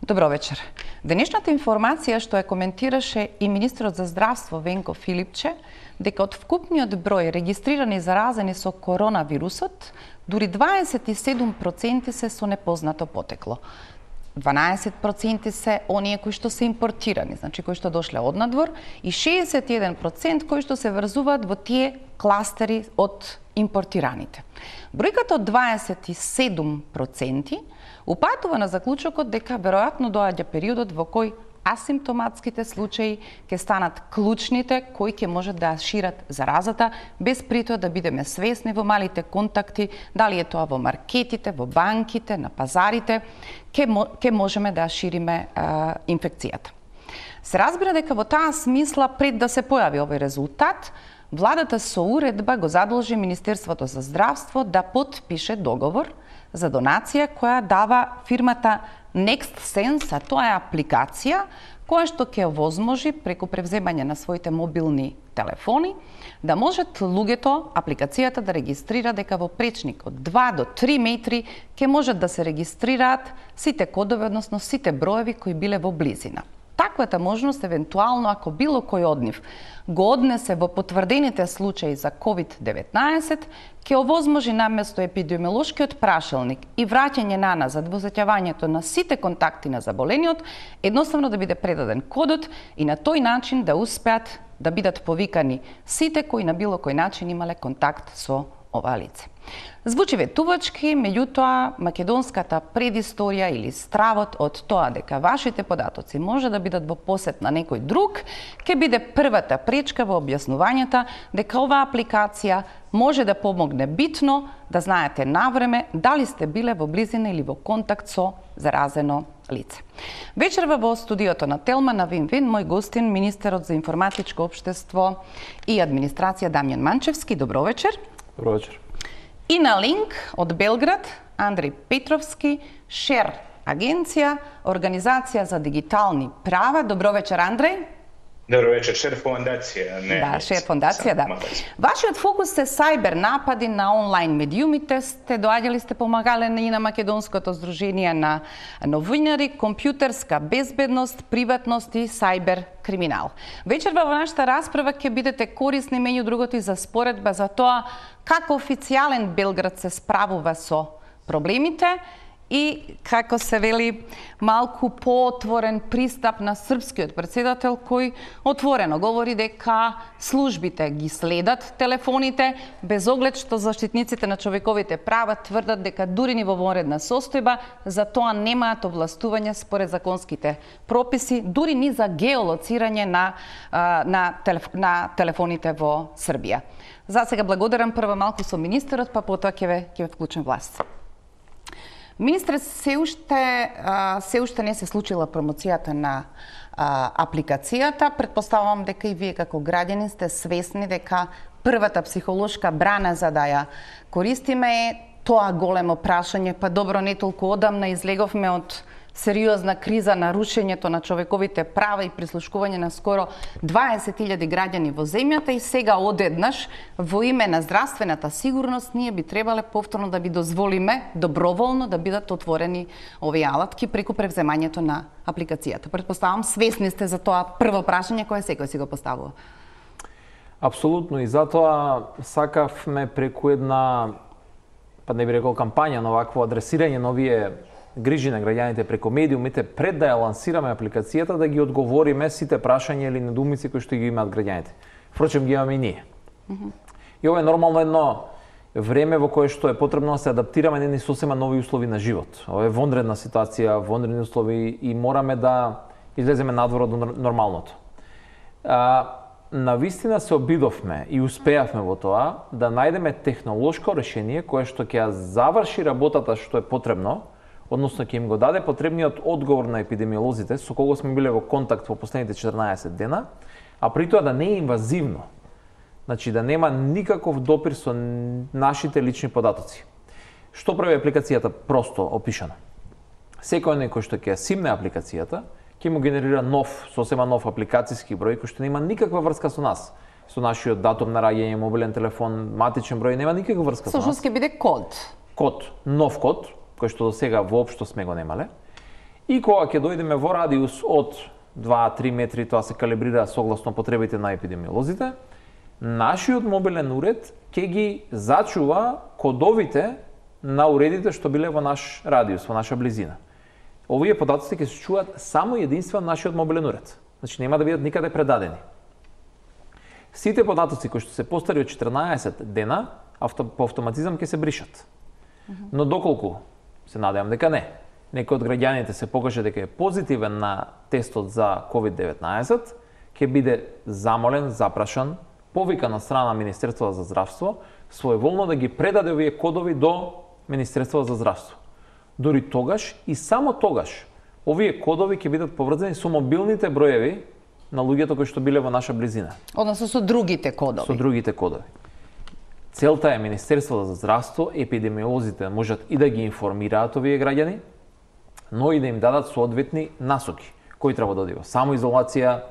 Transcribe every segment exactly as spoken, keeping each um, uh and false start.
Добро вечер. Денешната информација што ја коментираше и министерот за здравство Венко Филипче, дека од вкупниот број регистрирани заразени со коронавирусот, дури дваесет и седум проценти се со непознато потекло. дванаесет проценти се оние кои што се импортирани, значи кои што дошле од надвор, и шеесет и еден процент кои што се врзуваат во тие кластери од импортираните. Бројката од дваесет и седум проценти упатува на заклучокот дека веројатно доаѓа периодот во кој асимптоматските случаи ќе станат клучните кои ќе можат да шират заразата, без при тоа да бидеме свесни во малите контакти, дали е тоа во маркетите, во банките, на пазарите, ќе, ќе можеме да шириме а, инфекцијата. Се разбира дека во таа смисла, пред да се појави овој резултат, владата со уредба го задолжи Министерството за здравство да потпише договор за донација која дава фирмата NextSense, а тоа е апликација која што ќе овозможи преку превземање на своите мобилни телефони да можат луѓето апликацијата да регистрира дека во пречник од два до три метри ќе можат да се регистрираат сите кодови, односно сите броеви кои биле во близина. Таквата можност, евентуално, ако било кој од нив го однесе во потврдените случаи за ковид деветнаесет, ќе овозможи наместо епидемиолошкиот прашалник и враќање на назад во заќавањето на сите контакти на заболениот, едноставно да биде предаден кодот и на тој начин да успеат да бидат повикани сите кои на било кој начин имале контакт со ова лице. Звучи ветувачки, меѓутоа македонската предисторија или стравот од тоа дека вашите податоци може да бидат во посет на некој друг, ќе биде првата пречка во објаснувањата дека оваа апликација може да помогне битно да знаете навреме дали сте биле во близина или во контакт со заразено лице. Вечерва во студиото на Телма на Вин-Вин, мој гостин, министерот за информатичко општество и администрација Дамјан Манчевски. Добро вечер. Добро вечер. И на линк од Белград, Андреј Петровски, Шер агенција, Организација за дигитални права. Добро вечер, Андреј. Добро вечер, Шер фондација. Не, да, Шер фондација, да. Вашиот фокус се сајбер напади на онлайн медиумите. Сте доаѓали, сте помагале и на Македонското здружение на новинари, компјутерска безбедност, приватност и сајбер криминал. Вечерва во нашата расправа ќе бидете корисни меѓу другото и за споредба за тоа како официјален Белград се справува со проблемите и како се вели малку поотворен пристап на српскиот претседател кој отворено говори дека службите ги следат телефоните без оглед што заштитниците на човековите права тврдат дека дури ни во вонредна состојба за тоа немаат овластување според законските прописи, дури ни за геолоцирање на на, телеф... на телефоните во Србија. За сега благодарам прво малку со министерот, па потоа ќе ве ќе ве вклучам власт. Министре, се уште, се уште не се случила промоцијата на а, апликацијата. Предпоставувам дека и вие како граѓани сте свесни дека првата психолошка брана за да ја користиме е тоа големо прашање, па добро, не толку одамна излеговме од сериозна криза на рушењето на човековите права и прислушкување на скоро дваесет илјади граѓани во земјата и сега одеднаш во име на здравствената сигурност ние би требале повторно да би дозволиме доброволно да бидат отворени овие алатки преку превземањето на апликацијата. Претпоставам свесни сте за тоа прво прашање кое секој си го поставува. Апсолутно, и затоа сакавме преку една, па не би рекол кампања, но вакво адресирање на овие грижи на граѓаните преку медиумите, пред да ја лансираме апликацијата, да ги одговориме сите прашања или недоумици кои што ги имаат граѓаните. Впрочем, ги имаме и ние. Mm -hmm. И ова е нормално едно време во кое што е потребно да се адаптираме на едни сосема нови услови на живот. Ова е вонредна ситуација, вонредни услови и мораме да излеземе надвор од нормалното. А, навистина се обидовме и успеавме во тоа да најдеме технолошко решение кое што ќе ја заврши работата што е потребно, односно ќе им го даде потребниот одговор на епидемиолозите со кого сме биле во контакт во последните четрнаесет дена, а при тоа да не е инвазивно. Значи да нема никаков допир со нашите лични податоци. Што прави апликацијата? Просто опишано. Секој некој што ќе ја симне апликацијата, ќе му генерира нов, сосема нов апликацијски број кој што нема никаква врска со нас. Со нашиот датум на раѓање, мобилен телефон, матичен број, нема никаква врска со нас. Сошто ќе биде код. Код, нов код, кој што до сега воопшто сме го немале. И кога ќе дојдеме во радиус од два до три метри, тоа се калибрира согласно потребите на епидемиолозите, нашиот мобилен уред ќе ги зачува кодовите на уредите што биле во наш радиус, во наша близина. Овие податоци ќе се чуваат само единствено нашиот мобилен уред. Значи нема да бидат никаде предадени. Сите податоци кои што се постари од четрнаесет дена, авто, по автоматизам ќе се бришат. Но доколку, се надевам дека не, некој од граѓаните се покаже дека е позитивен на тестот за ковид деветнаесет, ќе биде замолен, запрашан, повикан од страна на Министерството за здравство, своеволно да ги предаде овие кодови до Министерството за здравство. Дори тогаш и само тогаш овие кодови ќе бидат поврзани со мобилните броеви на луѓето кои што биле во наша близина. Односно со другите кодови. Со другите кодови. Целта е Министерството за здравство, епидемиолозите можат и да ги информираат овие граѓани, но и да им дадат соодветни насоки. Кој треба да оди во самоизолација,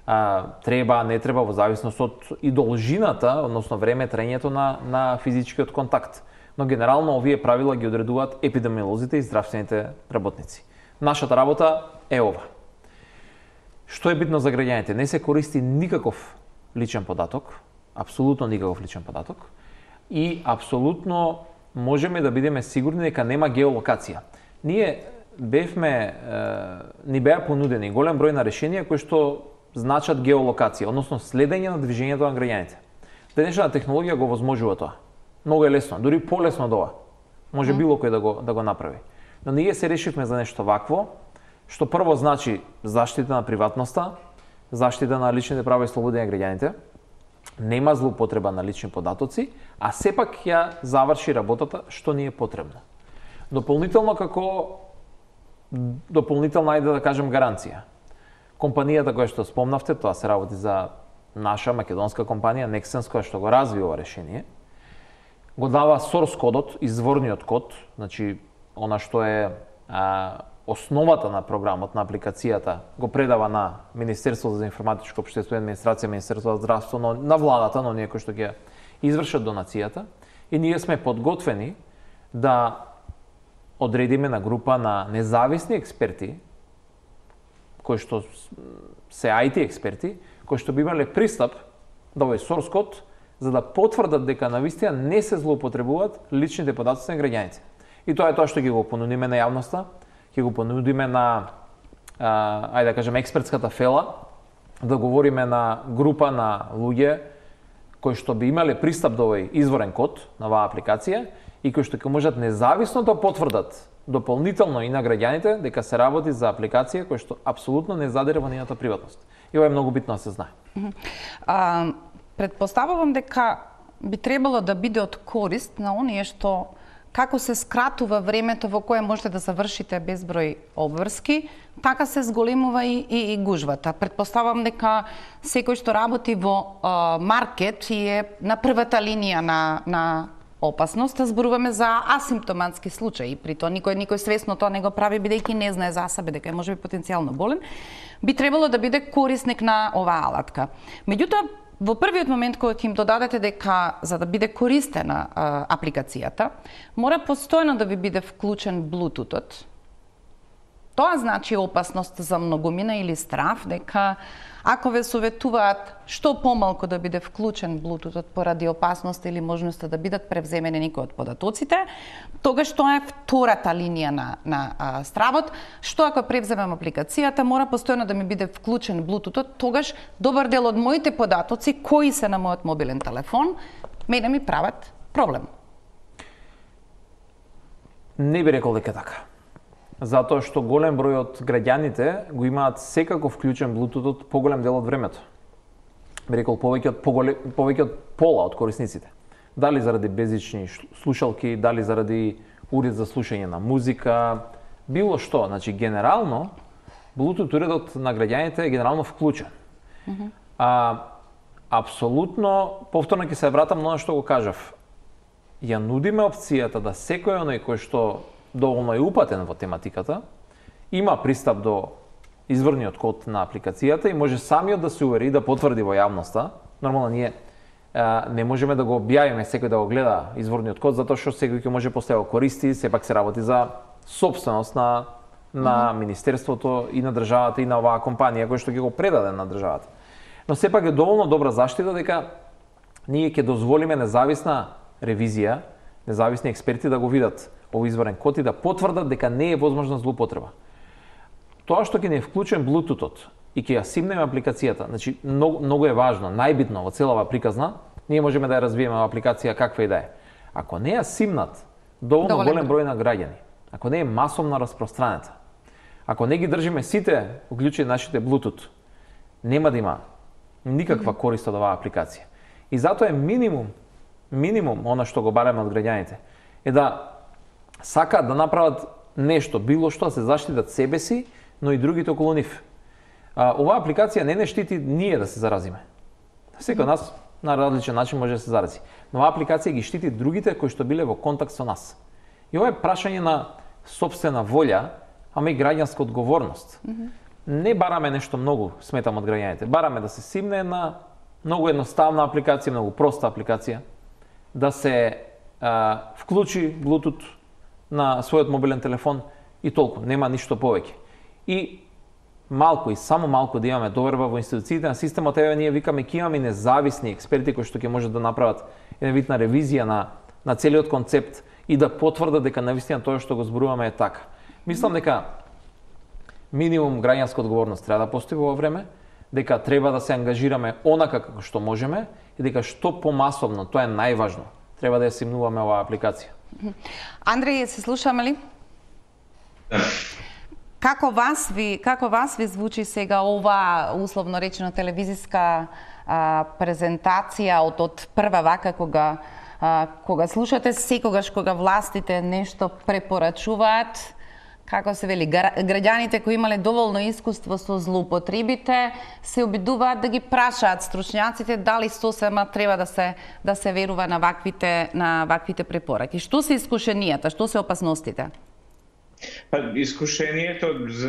а, треба, не треба, во зависност од и должината, односно време траењето на, на физичкиот контакт. Но генерално овие правила ги одредуваат епидемиолозите и здравствените работници. Нашата работа е ова. Што е битно за граѓаните? Не се користи никаков личен податок, апсолутно никаков личен податок, и апсолутно можеме да бидеме сигурни дека нема геолокација. Ние бевме, е, ни беа понудени голем број на решенија кои што значат геолокација, односно следење на движењето на граѓаните. Денешната технологија го возможува тоа. Многу е лесно, дури полесно од ова. Може било кој да го да го направи. Но ние се решивме за нешто вакво, што прво значи заштита на приватноста, заштита на личните права и слободи на граѓаните, нема злоупотреба на лични податоци, а сепак ја заврши работата што ни е потребно. Дополнително како дополнителна, ајде да кажем, гаранција. Компанијата која што спомнавте, тоа се работи за наша македонска компанија Nexens, која што го разви ова решение, го дава source кодот, изворниот код, значи она што е а, основата на програмот, на апликацијата, го предава на Министерството за информатичко општество и администрација, Министерството за здравство, но, на владата, но ние кои што ќе извршат донацијата, и ние сме подготвени да одредиме на група на независни експерти, кои што се ай ти експерти, кои што би имале пристап до овој source код, за да потврдат дека навистина не се злоупотребуваат личните податоци на граѓаните. И тоа е тоа што ќе го понудиме на јавноста, ќе го понудиме на, а, ајде да кажем, експертската фела, да говориме на група на луѓе кои што би имале пристап до овој изворен код на оваа апликација и кои што ќе можат независно да потврдат дополнително и на граѓаните дека се работи за апликација која што апсолутно не задире во нејната приватност. И ова е многу битно да се знае. А, предпоставувам дека би требало да биде од корист на оние што како се скратува времето во кое можете да завршите безброј обврски, така се зголемува и, и, и гужвата. Предпоставам дека секој што работи во а, маркет и е на првата линија на, на опасност, зборуваме за асимптоматски случаи, при тоа никој никој свесно тоа не го прави бидејќи не знае за себе дека е можеби потенцијално болен, би требало да биде корисник на оваа алатка. Меѓутоа, во првиот момент кога ќе им додадете дека за да биде користена а, апликацијата, мора постојано да ви биде вклучен блутутот. Тоа значи опасност за многумина или страв дека ако ве советуваат што помалку да биде вклучен блутутот поради опасност или можноста да бидат превземени некои од податоците, тогаш тоа е втората линија на, на а, стравот. Што ако превземам апликацијата, мора постојано да ми биде вклучен блутутот, тогаш добар дел од моите податоци кои се на мојот мобилен телефон, мене ми прават проблем. Не би рекол дека така. Затоа што голем број од граѓаните го имаат секако вклучен блутутот поголем дел од времето. Би рекол повеќе од поголем, повеќе од пола од корисниците. Дали заради беззвучни слушалки, дали заради уред за слушање на музика, било што, значи генерално блутут уредот на граѓаните е генерално вклучен. Mm-hmm. А апсолутно повторно ќе се вратам на она што го кажав. Ја нудиме опцијата да секој оној кој што доволно е упатен во тематиката, има пристап до изворниот код на апликацијата и може самиот да се увери и да потврди во јавноста. Нормално ние а, не можеме да го објавиме секој да го гледа изворниот код, затоа што секој ќе може после да го користи, сепак се работи за сопственост на на Министерството и на државата и на оваа компанија која што ќе го предаде на државата. Но сепак е доволно добра заштита дека ние ќе дозволиме независна ревизија, независни експерти да го видат овој изборен код и да потврдат дека не е возможна злоупотреба. Тоа што ќе не е вклучен Bluetooth-от и ќе ја симнеме апликацијата, значи многу, многу е важно, најбитно во целава приказна, ние можеме да ја развиеме апликација каква и да е. Ако не ја симнат доволно Доволен голем број на граѓани, ако не е масовно распространета, ако не ги држиме сите уклучени нашите Bluetooth, нема да има никаква корист од оваа апликација. И затоа е минимум, минимум она што го бараме од граѓаните, е да сакаат да направат нешто, било што, да се заштитат себе си, но и другите околу нив. А, оваа апликација не не штити ние да се заразиме. Секој од нас на различен начин може да се зарази. Но оваа апликација ги штити другите кои што биле во контакт со нас. И ова е прашање на сопствена волја, ама и граѓанска одговорност. Mm-hmm. Не бараме нешто многу, сметам, од граѓаните. Бараме да се симне една многу едноставна апликација, многу проста апликација, да се а, вклучи Bluetooth на својот мобилен телефон и толку, нема ништо повеќе. И малку и само малку да имаме доверба во институциите на системот, еве ние викаме ќе имаме независни експерти кои што ќе можат да направат една вид на ревизија на на целиот концепт и да потврдат дека навистина тоа што го зборуваме е така. Мислам дека минимум граѓанска одговорност треба да постои во ова време, дека треба да се ангажираме онака како што можеме и дека што помасовно, тоа е најважно, треба да ја симнуваме оваа апликација. Андреј, се слушаме ли? Како вас ви, како вас ви звучи сега ова условно речено телевизиска а, презентација од од прва вака кога а, кога слушате секогаш кога властите нешто препорачуваат, како се вели, граѓаните кои имале доволно искуство со злоупотребите се обидуваат да ги прашаат стручњаците дали сосема треба да се да се верува на ваквите на ваквите препораки. Што се искушенијата, што се опасностите? Па, искушението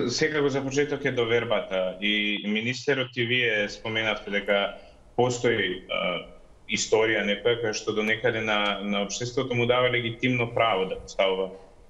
секако за почеток е довербата и министерот и вие споменавте дека постои а, историја некоја која што до некаде на на општеството му дава легитимно право да поставува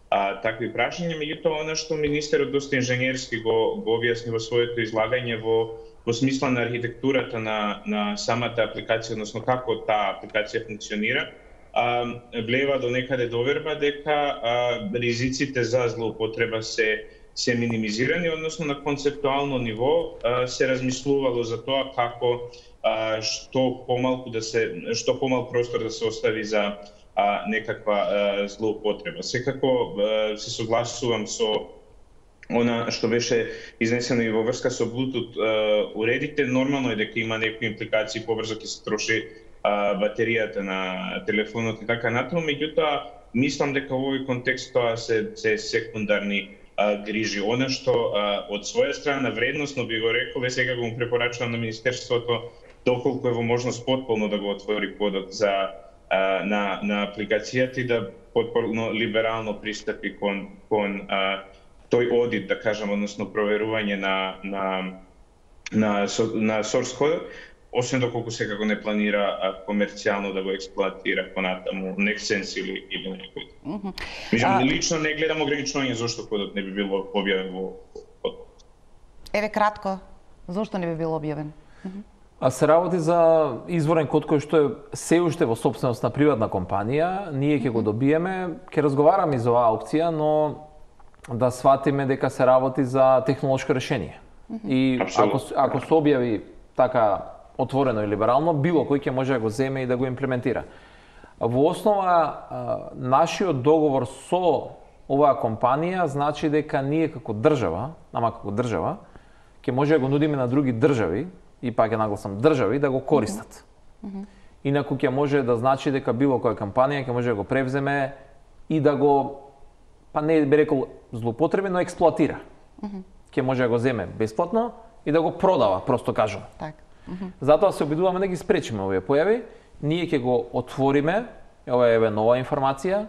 а, такви прашања, меѓутоа она што министерот доста инженерски го го објасни во своето излагање во во смисла на архитектурата на на самата апликација, односно како таа апликација функционира, а, влева до некаде доверба дека а, ризиците за злоупотреба се се минимизирани, односно на концептуално ниво а, се размислувало за тоа како а, што помалку да се што помал простор да се остави за а, некаква а, злоупотреба. Секако а, се согласувам со она што беше изнесено и во врска со Bluetooth а, уредите. Нормално е дека има некои импликации, побрзо ќе се троши а, батеријата на телефонот и така натаму, меѓутоа мислам дека во овој контекст тоа се се секундарни а, грижи. Она што а, од своја страна вредносно би го рекол е сега го му препорачувам на министерството доколку е во можност потполно да го отвори кодот за а, на на апликацијата и да потполно либерално пристапи кон кон а, тој одит, да кажам, односно проверување на на на на source code, освен доколку секако не планира а, комерцијално да го експлоатира понатаму Nextsense или или некој. Mm -hmm. Меѓутоа, а... лично не гледам ограничување зошто кодот не би бил објавен во код. Еве кратко, зошто не би бил објавен? Mm -hmm. А се работи за изворен код кој што е се уште во сопственост на приватна компанија, ние ќе го добиеме, ќе разговараме за оваа опција, но да сватиме дека се работи за технолошко решение. Mm-hmm. И ако, ако се објави така отворено и либерално, било кој ќе може да го земе и да го имплементира. Во основа, нашиот договор со оваа компанија значи дека ние како држава, ама како држава, ќе може да го нудиме на други држави, и пак ќе нагласам држави, да го користат. Mm-hmm. Инаку ќе може да значи дека било која компанија ќе може да го превземе и да го, па не би рекол злоупотреби, но експлоатира. Mm-hmm. Ќе може да го земе бесплатно и да го продава, просто кажувам. Так. Mm-hmm. Затоа се обидуваме да ги спречиме овие појави. Ние ќе го отвориме, ова е еве нова информација,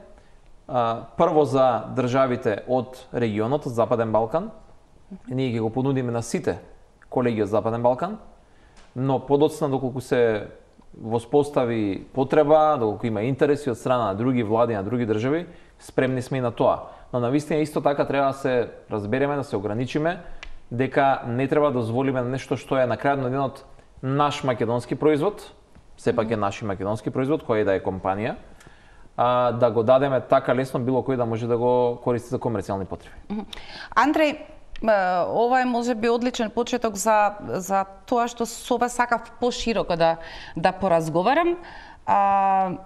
а, прво за државите од регионот, од Западен Балкан. Mm-hmm. Ние ќе го понудиме на сите колеги од Западен Балкан, но подоцна доколку се воспостави потреба, доколку има интереси од страна на други влади, на други држави, спремни сме и на тоа. но навистина исто така треба да се разбереме, да се ограничиме, дека не треба да дозволиме нешто што е на крајот на денот наш македонски производ, сепак е наш македонски производ, кој да е компанија, а, да го дадеме така лесно било кој да може да го користи за комерцијални потреби. Андреј, ова е можеби одличен почеток за за тоа што со вас сакав пошироко да да поразговарам. А,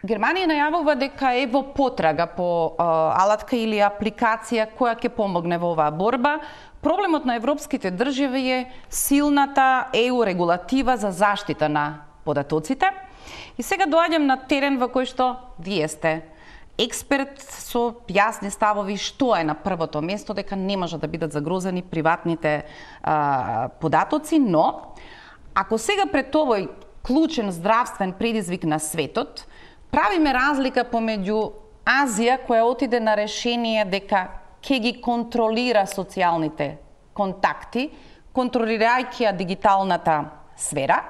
Германија најавува дека е во потрага по а, алатка или апликација која ќе помогне во оваа борба. Проблемот на европските држави е силната е у регулатива за заштита на податоците. И сега доаѓам на терен во кој што вие сте експерт со јасни ставови што е на првото место, дека не може да бидат загрозени приватните а, податоци, но ако сега пред овој клучен здравствен предизвик на светот, правиме разлика помеѓу Азија која отиде на решение дека ќе ги контролира социјалните контакти, контролирајќи ја дигиталната сфера,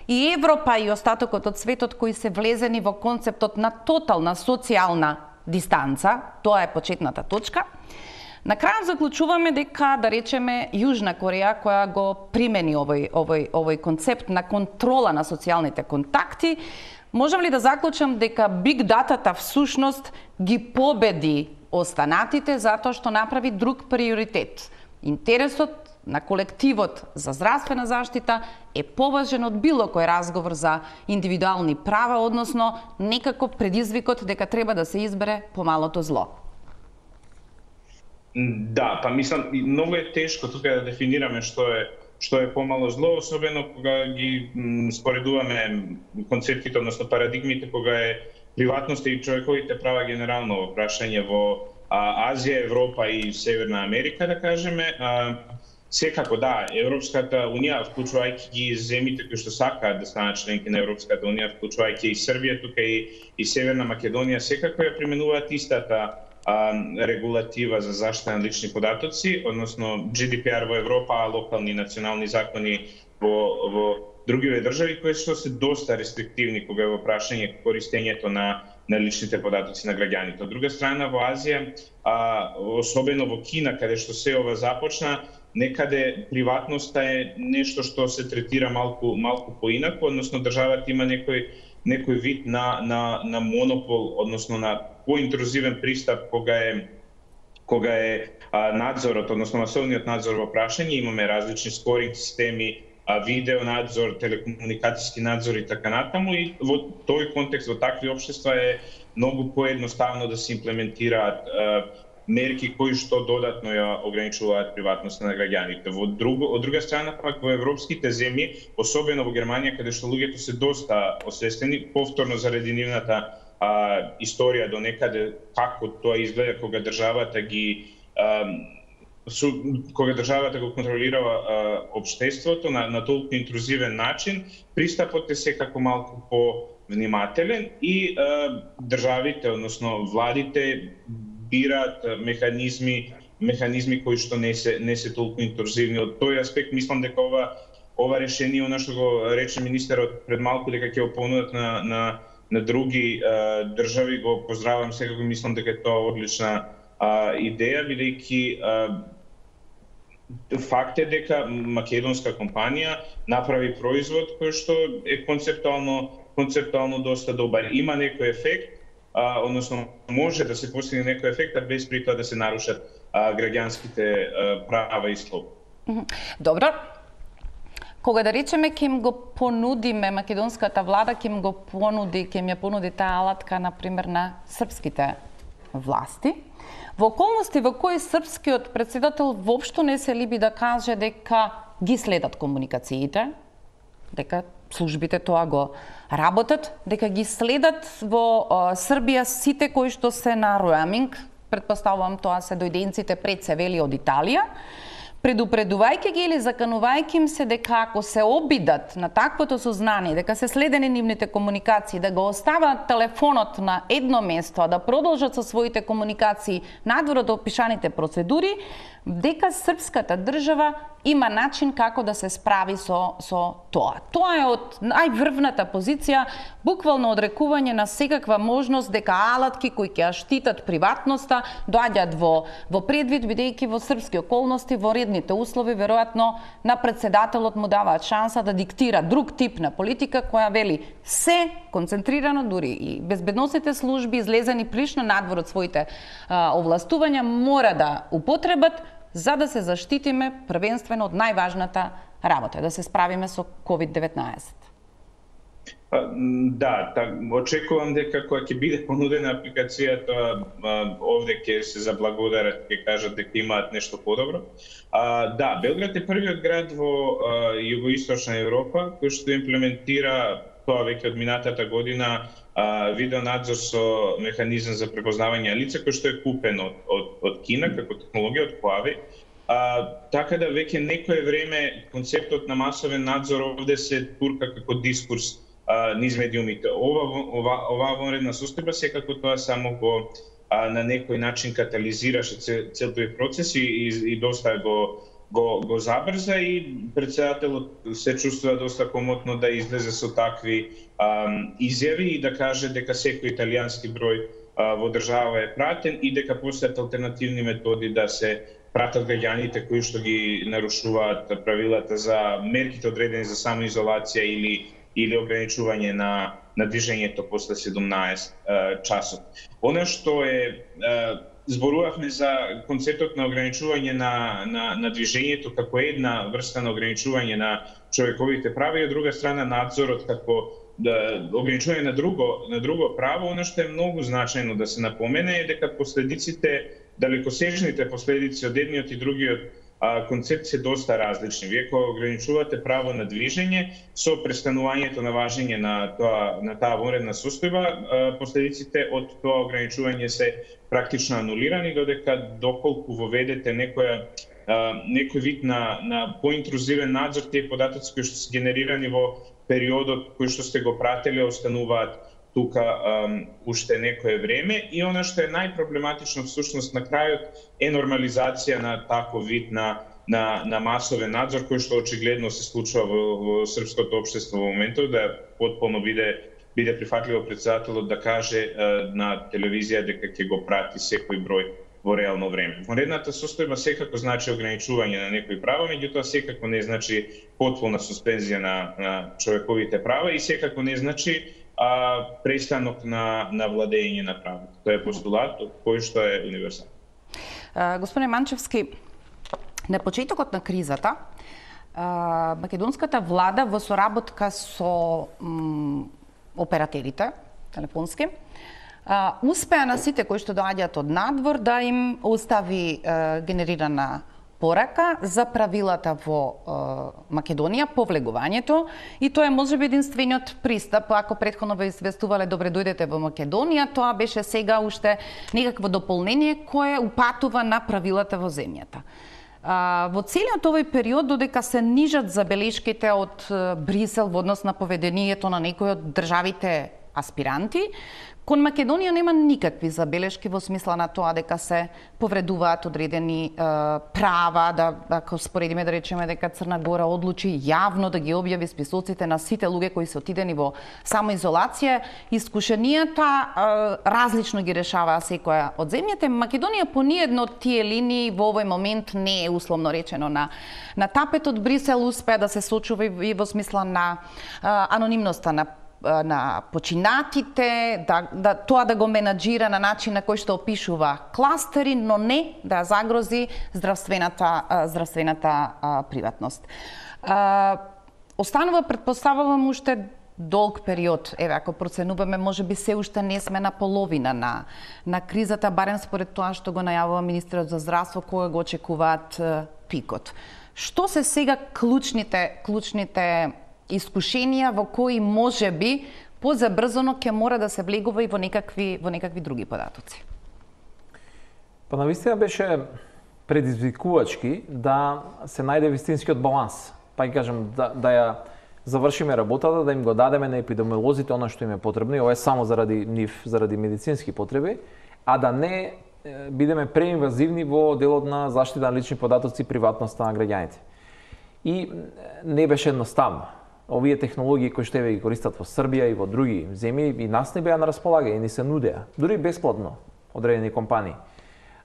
и Европа и остатокот од светот кои се влезени во концептот на тотална социјална дистанца, тоа е почетната точка. На крај заклучуваме дека, да речеме, Јужна Кореја, која го примени овој, овој, овој концепт на контрола на социјалните контакти, можам ли да заклучам дека биг датата всушност ги победи останатите затоа што направи друг приоритет? Интересот на колективот за здравствена заштита е поважен од било кој разговор за индивидуални права, односно некако предизвикот дека треба да се избере помалото зло. Да, па мислам, многу е тешко тука да дефинираме што е што е помало зло, особено кога ги споредуваме концептите, односно парадигмите, кога е приватноста и човековите права генерално прашање во а, Азија, Европа и Северна Америка, да кажеме. А, секако, да, Европската Унија, вклучувајќи ги земјите кои што сакаат да станат членки на Европската Унија, вклучувајќи и Србија, тука и, и Северна Македонија, секако ја применуваат истата а, регулатива за заштита на лични податоци, односно Джи Ди Пи Ар во Европа, а локални и национални закони во, во другиве држави, кои што се доста рестриктивни кога е во прашање користењето на на личните податоци на граѓаните. Од друга страна, во Азија, а, особено во Кина, каде што се ова започна, некаде приватноста е нешто што се третира малку малку поинаку, односно државата има некој некој вид на на на монопол, односно на поинтрузивен пристап кога е кога е а, надзорот, односно масовниот надзор во прашање, имаме различни скоринг системи, видео надзор, телекомуникацијски надзор и така натаму, и во тој контекст, во такви општества е многу поедноставно да се имплементираат а, мерки кои што додатно ја ограничуваат приватноста на граѓаните. Во друго, од друга страна, пак во европските земји, особено во Германија, каде што луѓето се доста освестени, повторно заради нивната а, историја до некаде како тоа изгледа кога државата ги а, Су, кога државата го контролирава а, општеството на, на толку интрузивен начин, пристапот е секако малку по-внимателен и а, државите, односно владите, бираат механизми, механизми кои што не се не се толку интрузивни. Од тој аспект мислам дека ова ова решение, она што го рече министерот пред малку, дека ќе го понудат на на на други а, држави, го поздравувам, секако мислам дека е тоа одлична а, идеја, бидејќи факт е дека македонска компанија направи производ кој што е концептуално концептуално доста добар. Има некој ефект, а, односно може да се постигне некој ефект, а без при тоа да се нарушат а, граѓанските а, права и слободи. Добро. Кога да речеме ќе им го понудиме, македонската влада ќе им го понуди, ќе им ја понуди таа алатка на пример на српските власти, во околности во кои српскиот претседател воопшто не се либи да каже дека ги следат комуникациите, дека службите тоа го работат, дека ги следат во а, Србија сите кои што се на роаминг, претпоставувам тоа се дојденците пред се вели од Италија, предупредувајќи ги или заканувајќи им се дека ако се обидат на таквото сознание, дека се следени нивните комуникации, да го остават телефонот на едно место, а да продолжат со своите комуникации надвор од опишаните процедури, дека српската држава има начин како да се справи со, со тоа. Тоа е од најврвната позиција, буквално одрекување на секаква можност дека алатки кои ќе ја штитат приватноста доаѓаат во, во предвид, бидејќи во српски околности, во редните услови, веројатно на председателот му даваат шанса да диктира друг тип на политика која вели се концентрирано, дури и безбедносните служби излезени прилично надвор од своите а, овластувања мора да употребат за да се заштитиме првенствено од најважната работа, да се справиме со ковид деветнаесет. Да, так, очекувам дека кога ќе биде понудена апликацијата, овде ќе се заблагодарат, ќе кажат дека имаат нешто подобро. А, да, Белград е првиот град во а, југоисточна Европа кој што имплементира тоа веќе од минатата година видеонадзор со механизам за препознавање лица кој што е купен од, од, од Кина како технологија од Huawei. А, така да веќе некое време концептот на масовен надзор овде се турка како дискурс а, низ медиумите. Ова, ова, оваа вонредна состојба секако тоа само го а, на некој начин катализираше цел, цел тој процес и, и, и доста го го го забрза и председателот се чувствува доста комотно да излезе со такви ам, изјави и да каже дека секој италијански број а, во држава е пратен и дека постојат алтернативни методи да се пратат граѓаните кои што ги нарушуваат правилата за мерките одредени за самоизолација или или ограничување на на движењето после седумнаесет а, часот. Она што е а, зборувавме за концептот на ограничување на, на, на движењето како една врста на ограничување на човековите права и од друга страна надзорот како да, ограничување на друго, на друго право. Оно што е многу значајно да се напомене е дека последиците, далекосежните последици од едниот и другиот а, концепт се доста различни. Вие кога ограничувате право на движење со престанувањето на важење на тоа на таа вонредна состојба, последиците од тоа ограничување се практично анулирани, додека доколку воведете некоја а, некој вид на на поинтрузивен надзор, тие податоци кои што се генерирани во периодот кој што сте го прателе остануваат тука um, уште некое време и она што е најпроблематично всушност на крајот е нормализација на таков вид на на на масовен надзор кој што очигледно се случува во, во српското општество во моментот, да потполно биде биде прифатливо председателот да каже uh, на телевизија дека ќе го прати секој број во реално време. Вонредната состојба секако значи ограничување на некои права, меѓутоа секако не значи потполна суспензија на, на човековите права и секако не значи а, престанок на, на владење на правото. Тоа е постулат кој што е универсален. Господине Манчевски, на почетокот на кризата, а, македонската влада во соработка со м, операторите телефонски, Uh, успеа на сите кои што доаѓаат од надвор да им остави uh, генерирана порака за правилата во uh, Македонија по влегувањето и тоа е можеби единствениот пристап. Ако претходно ве известувале добре дојдете во Македонија, тоа беше сега уште некакво дополнение кое упатува на правилата во земјата. Uh, во целиот овој период, додека се нижат забелешките од uh, Брисел во однос на поведението на некои од државите аспиранти, кон Македонија нема никакви забелешки во смисла на тоа дека се повредуваат одредени е, права, да ако споредиме да речеме дека Црна Гора одлучи јавно да ги објави списоците на сите луѓе кои се отидени во самоизолација, искушенијата е, различно ги решаваа секоја од земјите. Македонија по ниедно од тие линии во овој момент не е условно речено на на тапетот. Брисел успеа да се сочува и во смисла на е, анонимноста на на починатите, да, да тоа да го менаџира на начин на кој што опишува кластери, но не да загрози здравствената здравствената а, приватност. А, останува, предпоставувам, уште долг период. Еве, ако проценуваме, можеби се уште не сме на половина на на кризата, барем според тоа што го најавува министерот за здравство, кога го очекуваат а, пикот. Што се сега клучните клучните искушенија во кои можеби позабрзано ќе мора да се влегува и во некакви во некакви други податоци? Па навистина беше предизвикувачки да се најде вистинскиот баланс. Па ќе кажам да, да ја завршиме работата, да им го дадеме на епидемиолозите она што им е потребно, и ова е само заради нив, заради медицински потреби, а да не бидеме преинвазивни во делот на заштита на лични податоци и приватноста на граѓаните. И не беше едноставно. Овие технологии кои што еве ги користат во Србија и во други земји и нас не беа на располагање, ни се нудеа, дури бесплатно одредени компании.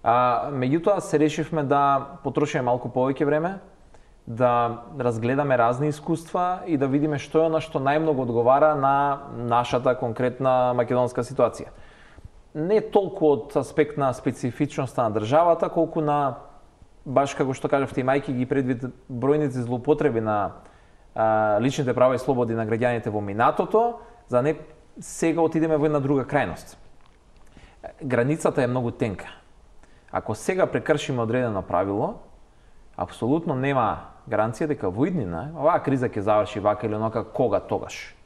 А, меѓутоа се решивме да потрошиме малку повеќе време, да разгледаме разни искуства и да видиме што е она што најмногу одговара на нашата конкретна македонска ситуација. Не толку од аспект на специфичноста на државата, колку на, баш како што кажавте, имајќи ги предвид бројните злоупотреби на а, личните права и слободи на граѓаните во минатото, за не сега отидеме во една друга крајност. Границата е многу тенка. Ако сега прекршиме одредено правило, апсолутно нема гаранција дека во иднина оваа криза ќе заврши вака или онака, кога тогаш.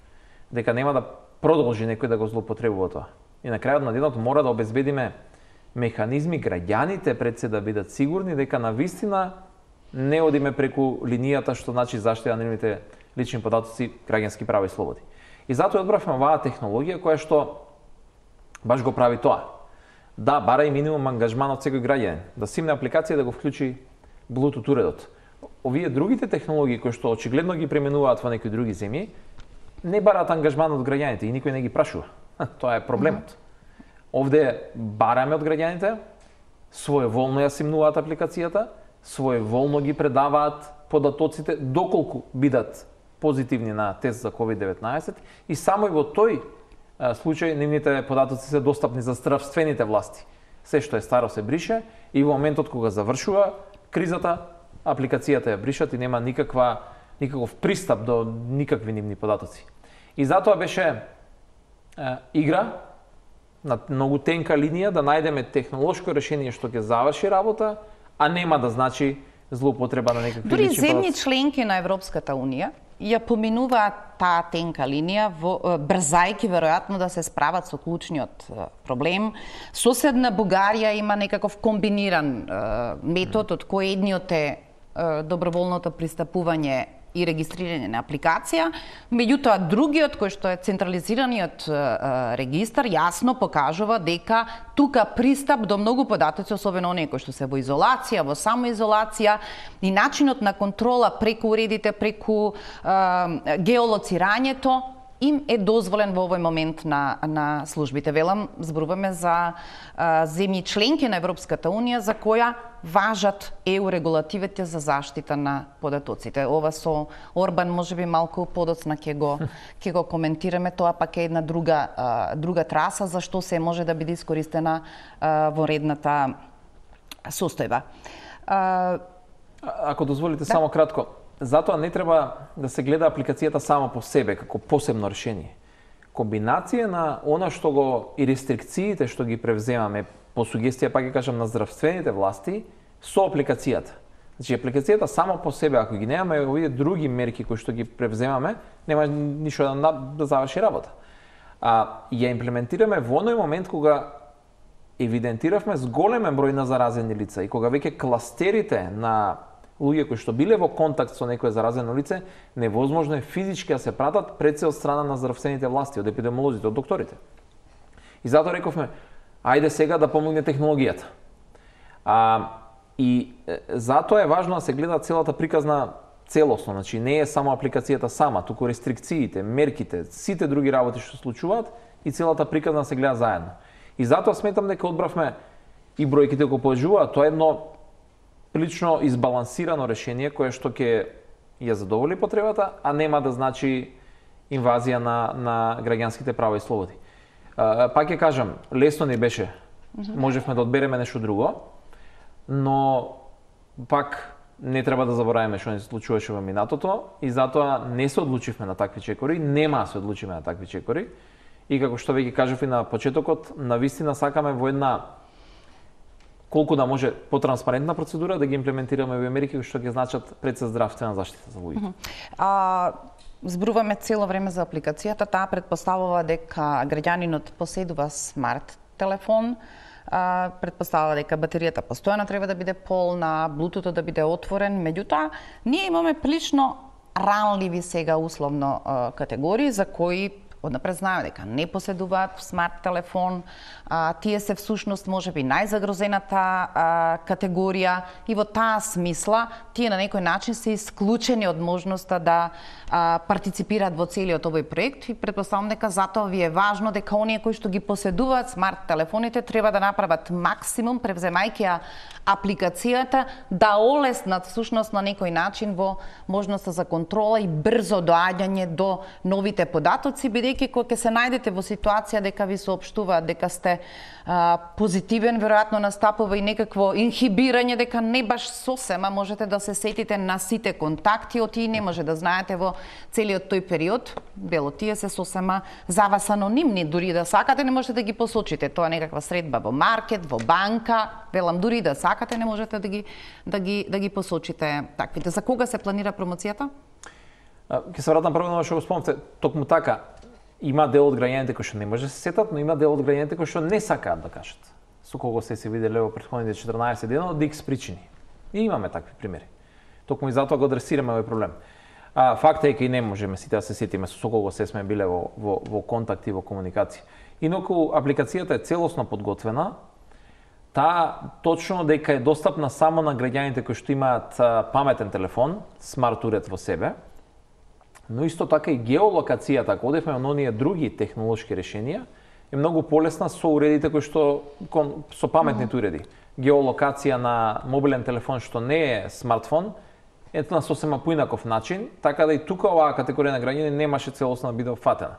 Дека нема да продолжи некој да го злоупотребува тоа. И на крајот на денот мора да обезбедиме механизми граѓаните пред се да бидат сигурни дека навистина не одиме преку линијата што значи заштита на нивните лични податоци, граѓански права и слободи. И затоа одбравме оваа технологија која што баш го прави тоа. Да, бара и минимум ангажман од секој граѓанин, да симне апликација да го вклучи Bluetooth уредот. Овие другите технологии кои што очигледно ги применуваат во некои други земји, не бараат ангажман од граѓаните и никој не ги прашува. Тоа е проблемот. Овде бараме од граѓаните, своеволно ја симнуваат апликацијата, своеволно ги предаваат податоците доколку бидат позитивни на тест за ковид деветнаесет и само и во тој случај нивните податоци се достапни за здравствените власти. Се што е старо се брише и во моментот кога завршува кризата, апликацијата ја бришат и нема никаква никаков пристап до никакви нивни податоци. И затоа беше е, игра на многу тенка линија да најдеме технолошко решение што ќе заврши работа, а нема да значи злоупотреба на некакви Дури лични земји податоци. членки на Европската унија ја поминуваат таа тенка линија, во, брзајки веројатно да се справат со клучниот проблем. Соседна Бугарија има некаков комбиниран е, метод, од кој едниот е, е доброволното пристапување и регистрирање на апликација, меѓутоа другиот кој што е централизираниот е, регистар јасно покажува дека тука пристап до многу податоци, особено оние кои што се во изолација, во самоизолација и начинот на контрола преку уредите, преку е, геолоцирањето им е дозволен во овој момент на, на службите. Велам, зборуваме за а, земји членки на Европската Унија за која важат Е У регулативите за заштита на податоците. Ова со Орбан можеби малку подоцна ќе го ќе го коментираме, тоа пак е една друга а, друга траса за што се може да биде искористена а, во редната состојба. А, Ако дозволите да. само кратко, затоа не треба да се гледа апликацијата само по себе како посебно решение. Комбинација на она што го и рестрикциите што ги превземаме по сугестија, пак ќе кажам, на здравствените власти со апликацијата. Значи апликацијата само по себе, ако ги немаме овие други мерки кои што ги превземаме, нема ништо да, да заврши работа. А ја имплементираме во оној момент кога евидентиравме зголемен број на заразени лица и кога веќе кластерите на луѓе кои што биле во контакт со некое заразено лице, невозможно е физички да се пратат пред се од страна на здравствените власти, од епидемиолозите, од докторите. И затоа рековме, ајде сега да помогне технологијата. А, и е, затоа е важно да се гледа целата приказна целосно, значи не е само апликацијата сама, туку рестрикциите, мерките, сите други работи што се случуваат и целата приказна се гледа заедно. И затоа сметам дека одбравме и бројките го положуваат, тоа е едно прилично избалансирано решение кое што ќе ја задоволи потребата, а нема да значи инвазија на, на граѓанските права и слободи. А, пак ќе кажам, лесно не беше. Можевме да одбереме нешто друго, но пак не треба да забораваме што не се случуваше во минатото и затоа не се одлучивме на такви чекори, нема да се одлучиме на такви чекори. И како што веќе кажав и на почетокот, навистина сакаме во една колку да може потранспарентна процедура да ги имплементираме во мерки што ќе значат пред се здравствена заштита за луѓето. А, зборуваме цело време за апликацијата, таа претпоставува дека граѓанинот поседува смарт телефон, а, предпоставува дека батеријата постојано треба да биде полна, блутутот да биде отворен, меѓутоа ние имаме прилично ранливи сега условно а, категории за кои однапред знаеме дека не поседуваат смарт телефон, а, тие се всушност можеби најзагрозената а, категорија и во таа смисла тие на некој начин се исклучени од можноста да а, партиципираат во целиот овој проект и предпоставам дека затоа ви е важно дека оние кои што ги поседуваат смарт телефоните треба да направат максимум превземајќи ја апликацијата да олеснат всушност на некој начин во можноста за контрола и брзо доаѓање до новите податоци, бидејќи кога ќе се најдете во ситуација дека ви соопштуваат дека сте а, позитивен, веројатно настапува и некакво инхибирање дека не баш сосема можете да се сетите на сите контакти, од тие не може да знаете во целиот тој период, бело тие се сосема за вас анонимни, дури да сакате не можете да ги посочите, тоа е некаква средба во маркет, во банка, велам дури да сакате не можете да ги да ги да ги посочите таквите. За кога се планира промоцијата? Ќе се вратам прво на што го спомнавте, токму така. Има дел од граѓаните кои што не може да се сетат, но има дел од граѓаните кои што не сакаат да кажат. Со кого се се виделе во претходните четрнаесет дена од икс причини. И имаме такви примери. Токму и затоа го адресираме овој проблем. А факт е дека и не можеме сите да се сетиме со кого се сме биле во во во контакт и во комуникација. Инаку апликацијата е целосно подготвена. Таа точно дека е достапна само на граѓаните кои што имаат паметен телефон, смарт уред во себе. Но исто така и геолокацијата, ако одевме на оние други технолошки решенија, е многу полесна со уредите кои што со паметните уреди. Геолокација на мобилен телефон што не е смартфон, е на сосема поинаков начин, така да и тука оваа категорија на граѓани немаше целосно да биде опфатена.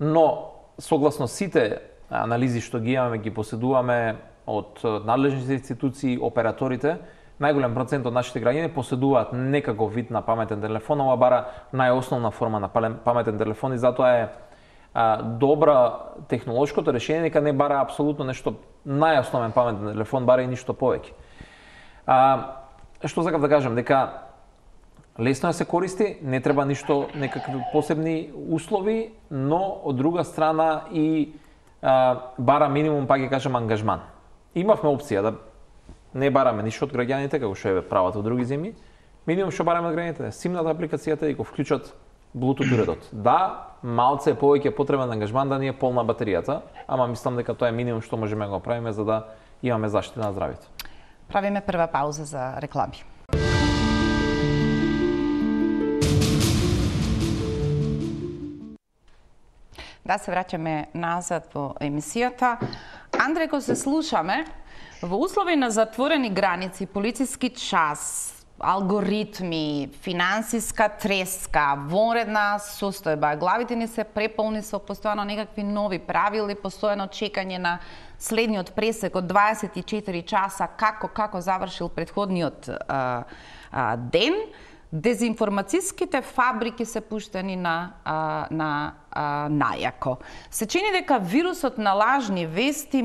Но согласно сите анализи што ги имаме, ги поседуваме од надлежните институции, операторите, најголем процент од нашите граѓани поседуваат некаков вид на паметен телефон, ова бара најосновна форма на паметен телефон и затоа е а, добра технолошкото решение дека не бара апсолутно нешто најосновен паметен телефон, бара и ништо повеќе. А, што сакав да кажам, дека лесно е да се користи, не треба ништо некакви посебни услови, но од друга страна и а, бара минимум, па ќе кажам, ангажман. Имавме опција да не бараме ништо од граѓаните, како што е прават во други земји, минимум што бараме од граѓаните, симнат апликацијата и го вклучат Bluetooth уредот. Да, малце е повеќе потребен ангажман да ни е полна батеријата, ама мислам дека тоа е минимум што можеме да го правиме за да имаме заштита на здравјето. Правиме прва пауза за реклами. Да, се враќаме назад во емисијата. Андре, кога се слушаме, во услови на затворени граници, полициски час, алгоритми, финансиска треска, вонредна состојба, главите ни се преполни со постојано некакви нови правила, постојано чекање на следниот пресек од дваесет и четири часа, како како завршил претходниот а, а, ден. Дезинформацијските фабрики се пуштени на, а, на а, најако. Се чини дека вирусот на лажни вести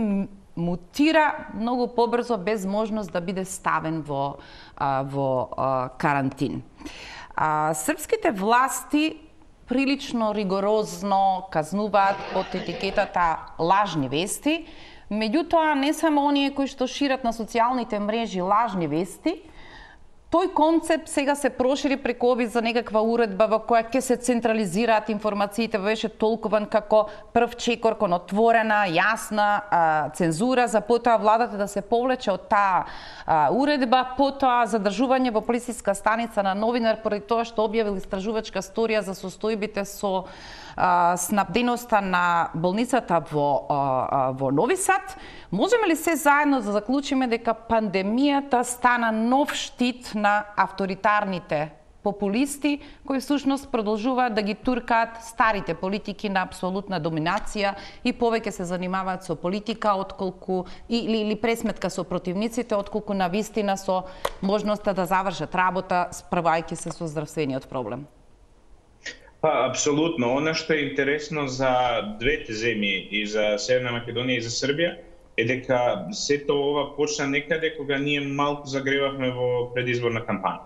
мутира многу побрзо без можност да биде ставен во, а, во а, карантин. А, српските власти прилично ригорозно казнуваат под етикетата лажни вести, меѓутоа не само оние кои што шират на социјалните мрежи лажни вести, тој концепт сега се прошири преку обид за некаква уредба во која ќе се централизираат информациите, беше толкуван како прв чекор кон отворена, јасна а, цензура, за потоа владата да се повлече од таа а, уредба, потоа задржување во полициска станица на новинар поради тоа што објавил истражувачка сторија за состојбите со а, снабденоста на болницата во, а, во Нови Сад. Можеме ли се заедно да заклучиме дека пандемијата стана нов штит на авторитарните популисти, кои всушност продолжуваат да ги туркаат старите политики на апсолутна доминација и повеќе се занимаваат со политика отколку или, или пресметка со противниците, отколку на вистина со можноста да завршат работа, справајќи се со здравствениот проблем? Па, апсолутно. Она што е интересно за двете земји, и за Северна Македонија и за Србија, е дека сето ова почна некаде кога ние малку загревавме во предизборна кампања.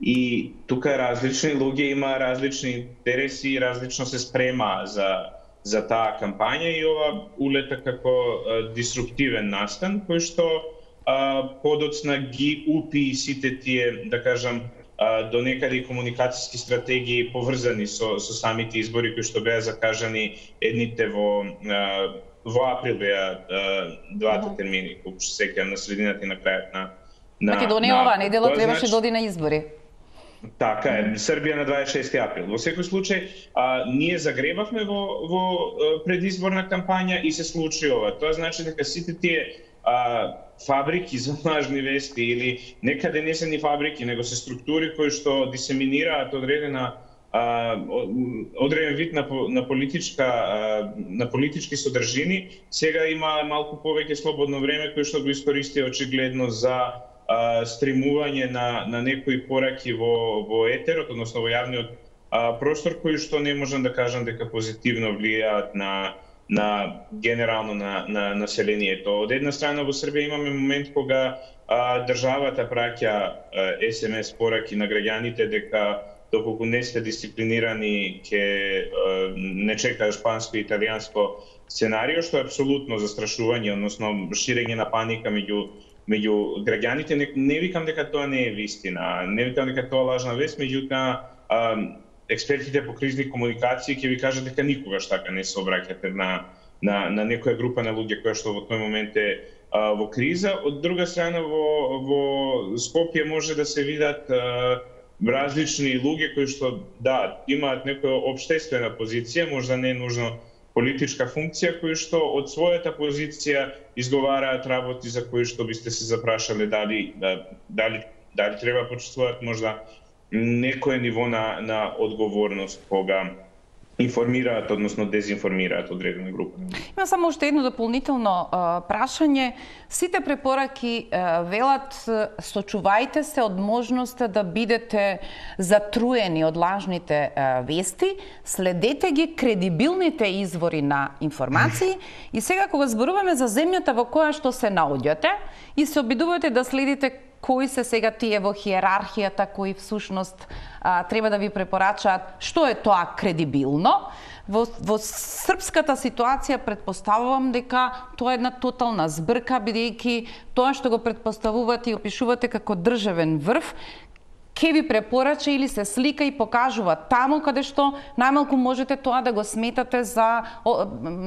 И тука различни луѓе има различни интереси и различно се спрема за за таа кампања и ова улета како а, дисруптивен настан кој што а, подоцна ги упи сите тие, да кажам, а, до некаде комуникацијски стратегии поврзани со со самите избори кои што беа закажани едните во а, во април беа двата mm-hmm. термини, кои што сеќавам на средината и на крајот на на Македонија на, оваа недела требаше значи, да оди на избори. Така е, Србија на дваесет и шести април. Во секој случај, а, ние загребавме во, во предизборна кампања и се случи ова. Тоа значи дека сите тие а, фабрики за лажни вести или некаде не се ни фабрики, него се структури кои што дисеминираат одредена а, одреден вид на, на политичка а, на политички содржини, сега има малку повеќе слободно време кој што го искористи очигледно за Uh, стримување на, на некои пораки во, во етерот, односно во јавниот uh, простор, кои што не можам да кажам дека позитивно влијаат на, на генерално на, на населението. Од една страна во Србија имаме момент кога uh, државата праќа uh, ес ем ес пораки на граѓаните дека доколку не сте дисциплинирани ќе uh, не чека шпанско и италијанско сценарио, што е апсолутно застрашување, односно ширење на паника меѓу меѓу граѓаните. Не, не викам дека тоа не е вистина, не викам дека тоа лажна вест, меѓутоа експертите по кризни комуникации ќе ви кажат дека никогаш така не се обраќате на на на некоја група на луѓе која што во тој момент е а, во криза. Од друга страна во во Скопје може да се видат а, различни луѓе кои што да имаат некоја општествена позиција, можда не е нужно политичка функција, кои што од својата позиција изговараат работи за кои што бисте се запрашале дали дали дали треба почувствуваат можда некое ниво на на одговорност кога информираат, односно дезинформираат одредена група. Има само уште едно дополнително а, прашање. Сите препораки а, велат сочувајте се од можноста да бидете затруени од лажните а, вести, следете ги кредибилните извори на информации и сега кога зборуваме за земјата во која што се наоѓате и се обидувате да следите кои се сега тие во хиерархијата кои всушност а, треба да ви препорачаат што е тоа кредибилно. Во, во српската ситуација предпоставувам дека тоа е една тотална збрка, бидејќи тоа што го предпоставувате и опишувате како државен врв, ке ви препорача или се слика и покажува таму каде што најмалку можете тоа да го сметате за о,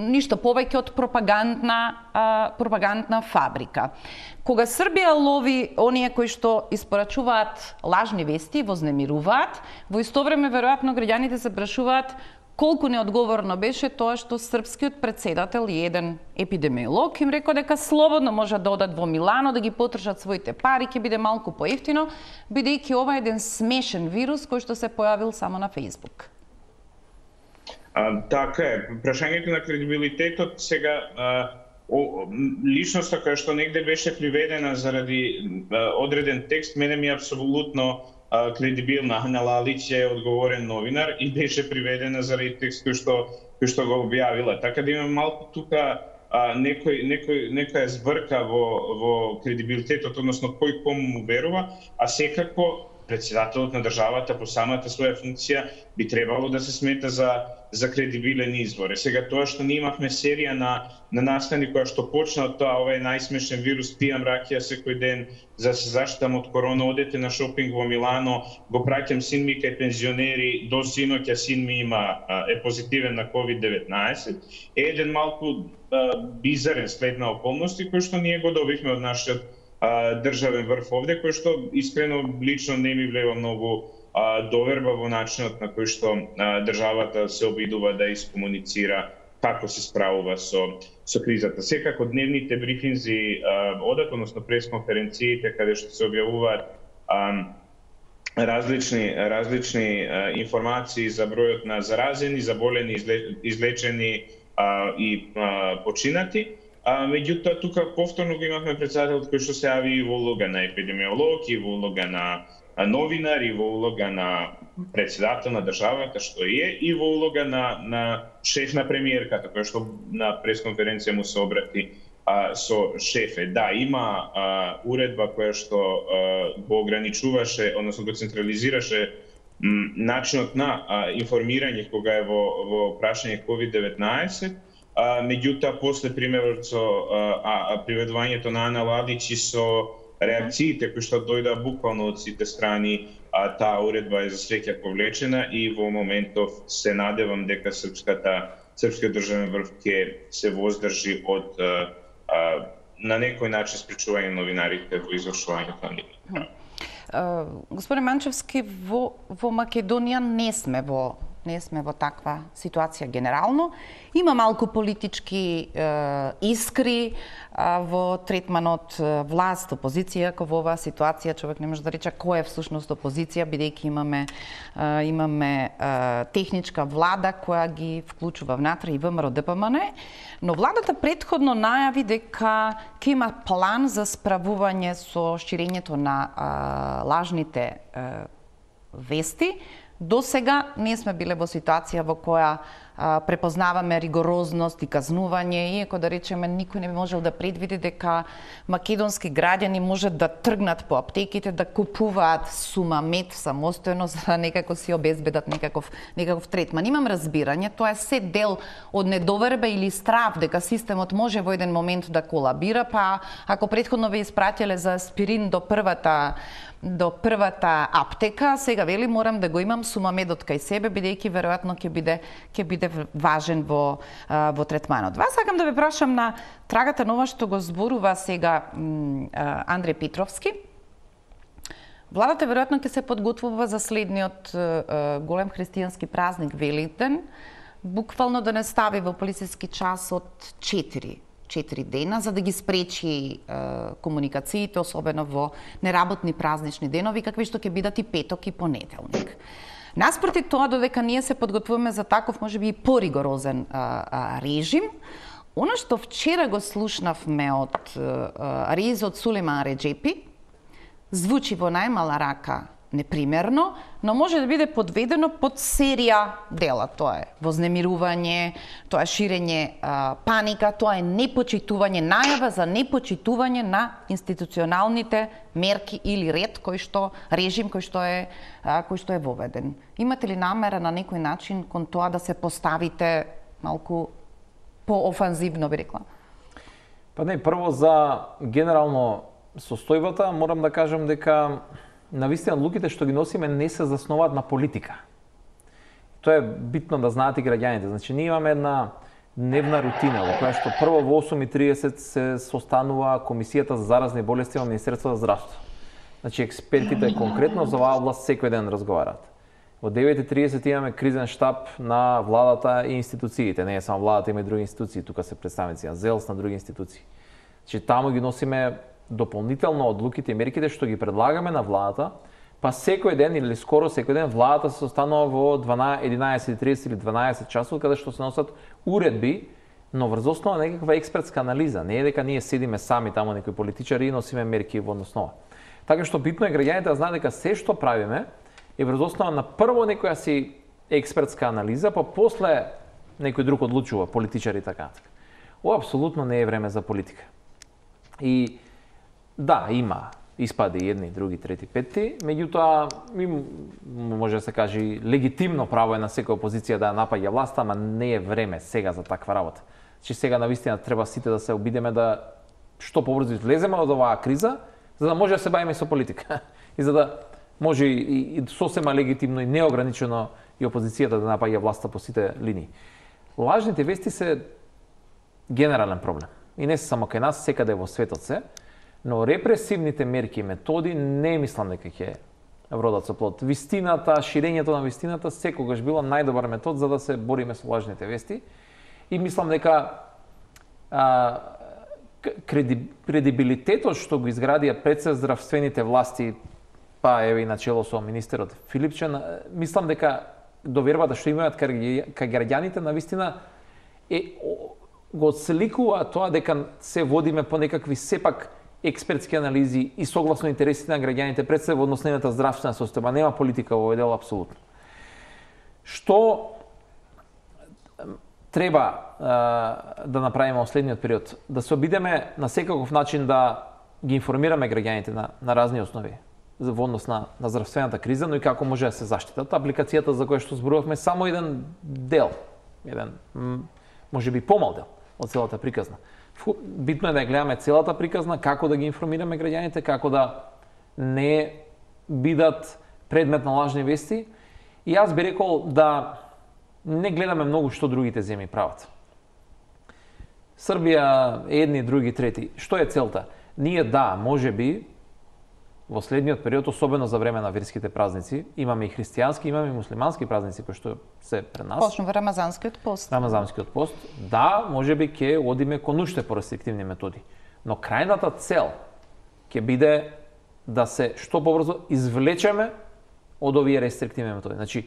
ништо повеќе од пропагандна а, пропагандна фабрика. Кога Србија лови оние кои што испорачуваат лажни вести, вознемируваат, во исто време веројатно граѓаните се прашуваат колку неодговорно беше тоа што српскиот претседател и еден епидемиолог им рекол дека слободно можат да одат во Милано да ги потршат своите пари, ќе биде малку поевтино, бидејќи ова е еден смешен вирус кој што се појавил само на Facebook. А, така е, прашањето на кредибилитетот сега а, о, личноста која што негде беше приведена заради а, одреден текст, мене ми е апсолутно кредибилна. Ана Лалич е одговорен новинар и беше приведена заради текст кој што кој што го објавила. Така да има малку тука а, некој некој некоја збрка во во кредибилитетот, односно кој кому му верува, а секако претседателот на државата по самата своја функција би требало да се смета за за кредибилен извор. Сега тоа што ние имавме серија на на настани која што почна од тоа, ова е најсмешен вирус, пијам ракија секој ден за се заштитам од корона, одете на шопинг во Милано, го праќам син ми кај пензионери, до синоќа син ми има е позитивен на ковид деветнаесет. Е еден малку а, бизарен след на околности кој што ние го добивме од нашиот а, државен врв овде, кој што искрено лично не ми влева многу а, доверба во начинот на кој што а, државата се обидува да искомуницира како се справува со со кризата. Секако дневните брифинзи а, одат, односно пресконференциите каде што се објавуваат а, различни различни а, информации за бројот на заразени, заболени, излечени а, и а, починати. А, меѓутоа тука повторно го имавме претседател кој што се јави и во улога на епидемиолог, и во улога на новинар, и во улога на претседател на државата што е, и во улога на на шеф на премиерката кој што на пресконференција му се обрати а, со шефе. Да, има а, уредба која што а, го ограничуваше, односно го централизираше начинот на а, информирање кога е во, во прашање ковид деветнаесет, а, меѓутоа после примерот со а, а, приведувањето на Ана Лавич и со реакциите кои што дојда буквално од сите страни, а, таа уредба е за среќа повлечена и во моментов се надевам дека српската српскиот државен врв ќе се воздржи од а, а, на некој начин спречување новинарите во извршувањето на нивните. Uh, Господин Манчевски, во, во Македонија не сме во не сме во таква ситуација генерално. Има малку политички е, искри а, во третманот власт, опозиција, како во оваа ситуација човек не може да рече кој е всушност опозиција, бидејќи имаме е, имаме е, техничка влада која ги вклучува внатре и ВМРО Д П М Н, но владата претходно најави дека ќе има план за справување со ширењето на а, лажните а, вести. До сега не сме биле во ситуација во која а, препознаваме ригорозност и казнување, иако да речеме никој не би можел да предвиди дека македонски граѓани можат да тргнат по аптеките да купуваат сума мед самостојно за да некако си обезбедат некаков некаков третман. Имам разбирање, тоа е се дел од недоверба или страв дека системот може во еден момент да колабира, па ако претходно ве испратиле за аспирин до првата до првата аптека, сега вели морам да го имам сумамедот кај себе, бидејќи веројатно ќе биде ќе биде важен во во третманот. Вас сакам да ве прашам на трагата на ова што го зборува сега Андреј Петровски. Владата веројатно ќе се подготвува за следниот голем христијански празник Великден, буквално да не стави во полициски час од четири четири дена, за да ги спречи е, комуникациите, особено во неработни празнични денови, какви што ќе бидат и петок и понеделник. Наспроти тоа, додека ние се подготвуваме за таков, можеби и поригорозен а, а, режим, она што вчера го слушнавме од а, ризот Сулейман Реджепи, звучи во најмала рака непримерно, но може да биде подведено под серија дела. Тоа е вознемирување, тоа е ширење а, паника, тоа е непочитување, најава за непочитување на институционалните мерки или ред кој што режим кој што е а, кој што е воведен. Имате ли намера на некој начин кон тоа да се поставите малку поофанзивно, би рекла? Па не, прво за генерално состојбата морам да кажам дека навистина луѓето што ги носиме не се заснуваат на политика. Тоа е битно да знаат и граѓаните. Значи ние имаме една дневна рутина во која што прво во осум и триесет се состанува комисијата за заразни болести во Министерството за здравство. Значи експертите конкретно за оваа област секој ден разговараат. Во девет и триесет имаме кризен штаб на владата и институциите. Не е само владата, има и други институции, тука се представници на ЗЕЛС, на други институции. Значи таму ги носиме дополнително одлуките и мерките што ги предлагаме на владата, па секој ден или скоро секој ден владата се состанува во единаесет и тридесет или дванаесет часот каде што се носат уредби, но врз основа на некаква експертска анализа. Не е дека ние седиме сами таму некои политичари и носиме мерки во основа. Така што битно е граѓаните да знаат дека се што правиме е врз основа на прво некоја си експертска анализа, па после некој друг одлучува, политичари така. Ова апсолутно не е време за политика. И да, има испади едни, други, трети, пети, меѓутоа може да се каже легитимно право е на секоја опозиција да напаѓа власта, ама не е време сега за таква работа. Че сега навистина треба сите да се обидеме да што побрзо излеземе од оваа криза, за да може да се бавиме со политика. И за да може и, и сосема легитимно и неограничено и опозицијата да напаѓа власта по сите линии. Лажните вести се генерален проблем. И не се само кај нас, секаде во светот се. Но репресивните мерки и методи не мислам дека ќе вродат со плод. Вистината, ширењето на вистината секогаш било најдобар метод за да се бориме со лажните вести. И мислам дека а, креди, кредибилитетот што го изградија пред се здравствените власти, па еве и начело со министерот Филипче, мислам дека довербата што имаат кај граѓаните на вистина е го отсликува тоа дека се водиме по некакви сепак експертски анализи и согласно интересите на граѓаните пред се во однос на нивната здравствена состојба. Нема политика во овој дел апсолутно. Што треба а, да направиме во следниот период? Да се обидеме на секаков начин да ги информираме граѓаните на, на разни основи. во однос на, на здравствената криза, но и како може да се заштитат. Апликацијата за која што зборувавме само еден дел, еден може би помал дел од целата приказна. Битно е да ја гледаме целата приказна, како да ги информираме граѓаните, како да не бидат предмет на лажни вести. И јас би рекол да не гледаме многу што другите земји прават. Србија, едни, други, трети. Што е целта? Ние да, може би, во следниот период, особено за време на верските празници, имаме и христијански, имаме и муслимански празници кои што се пред нас. Почнува Рамазанскиот пост. Рамазанскиот пост. Да, може би ќе одиме кон уште порестриктивни методи. Но крајната цел ќе биде да се што побрзо извлечеме од овие рестриктивни методи. Значи,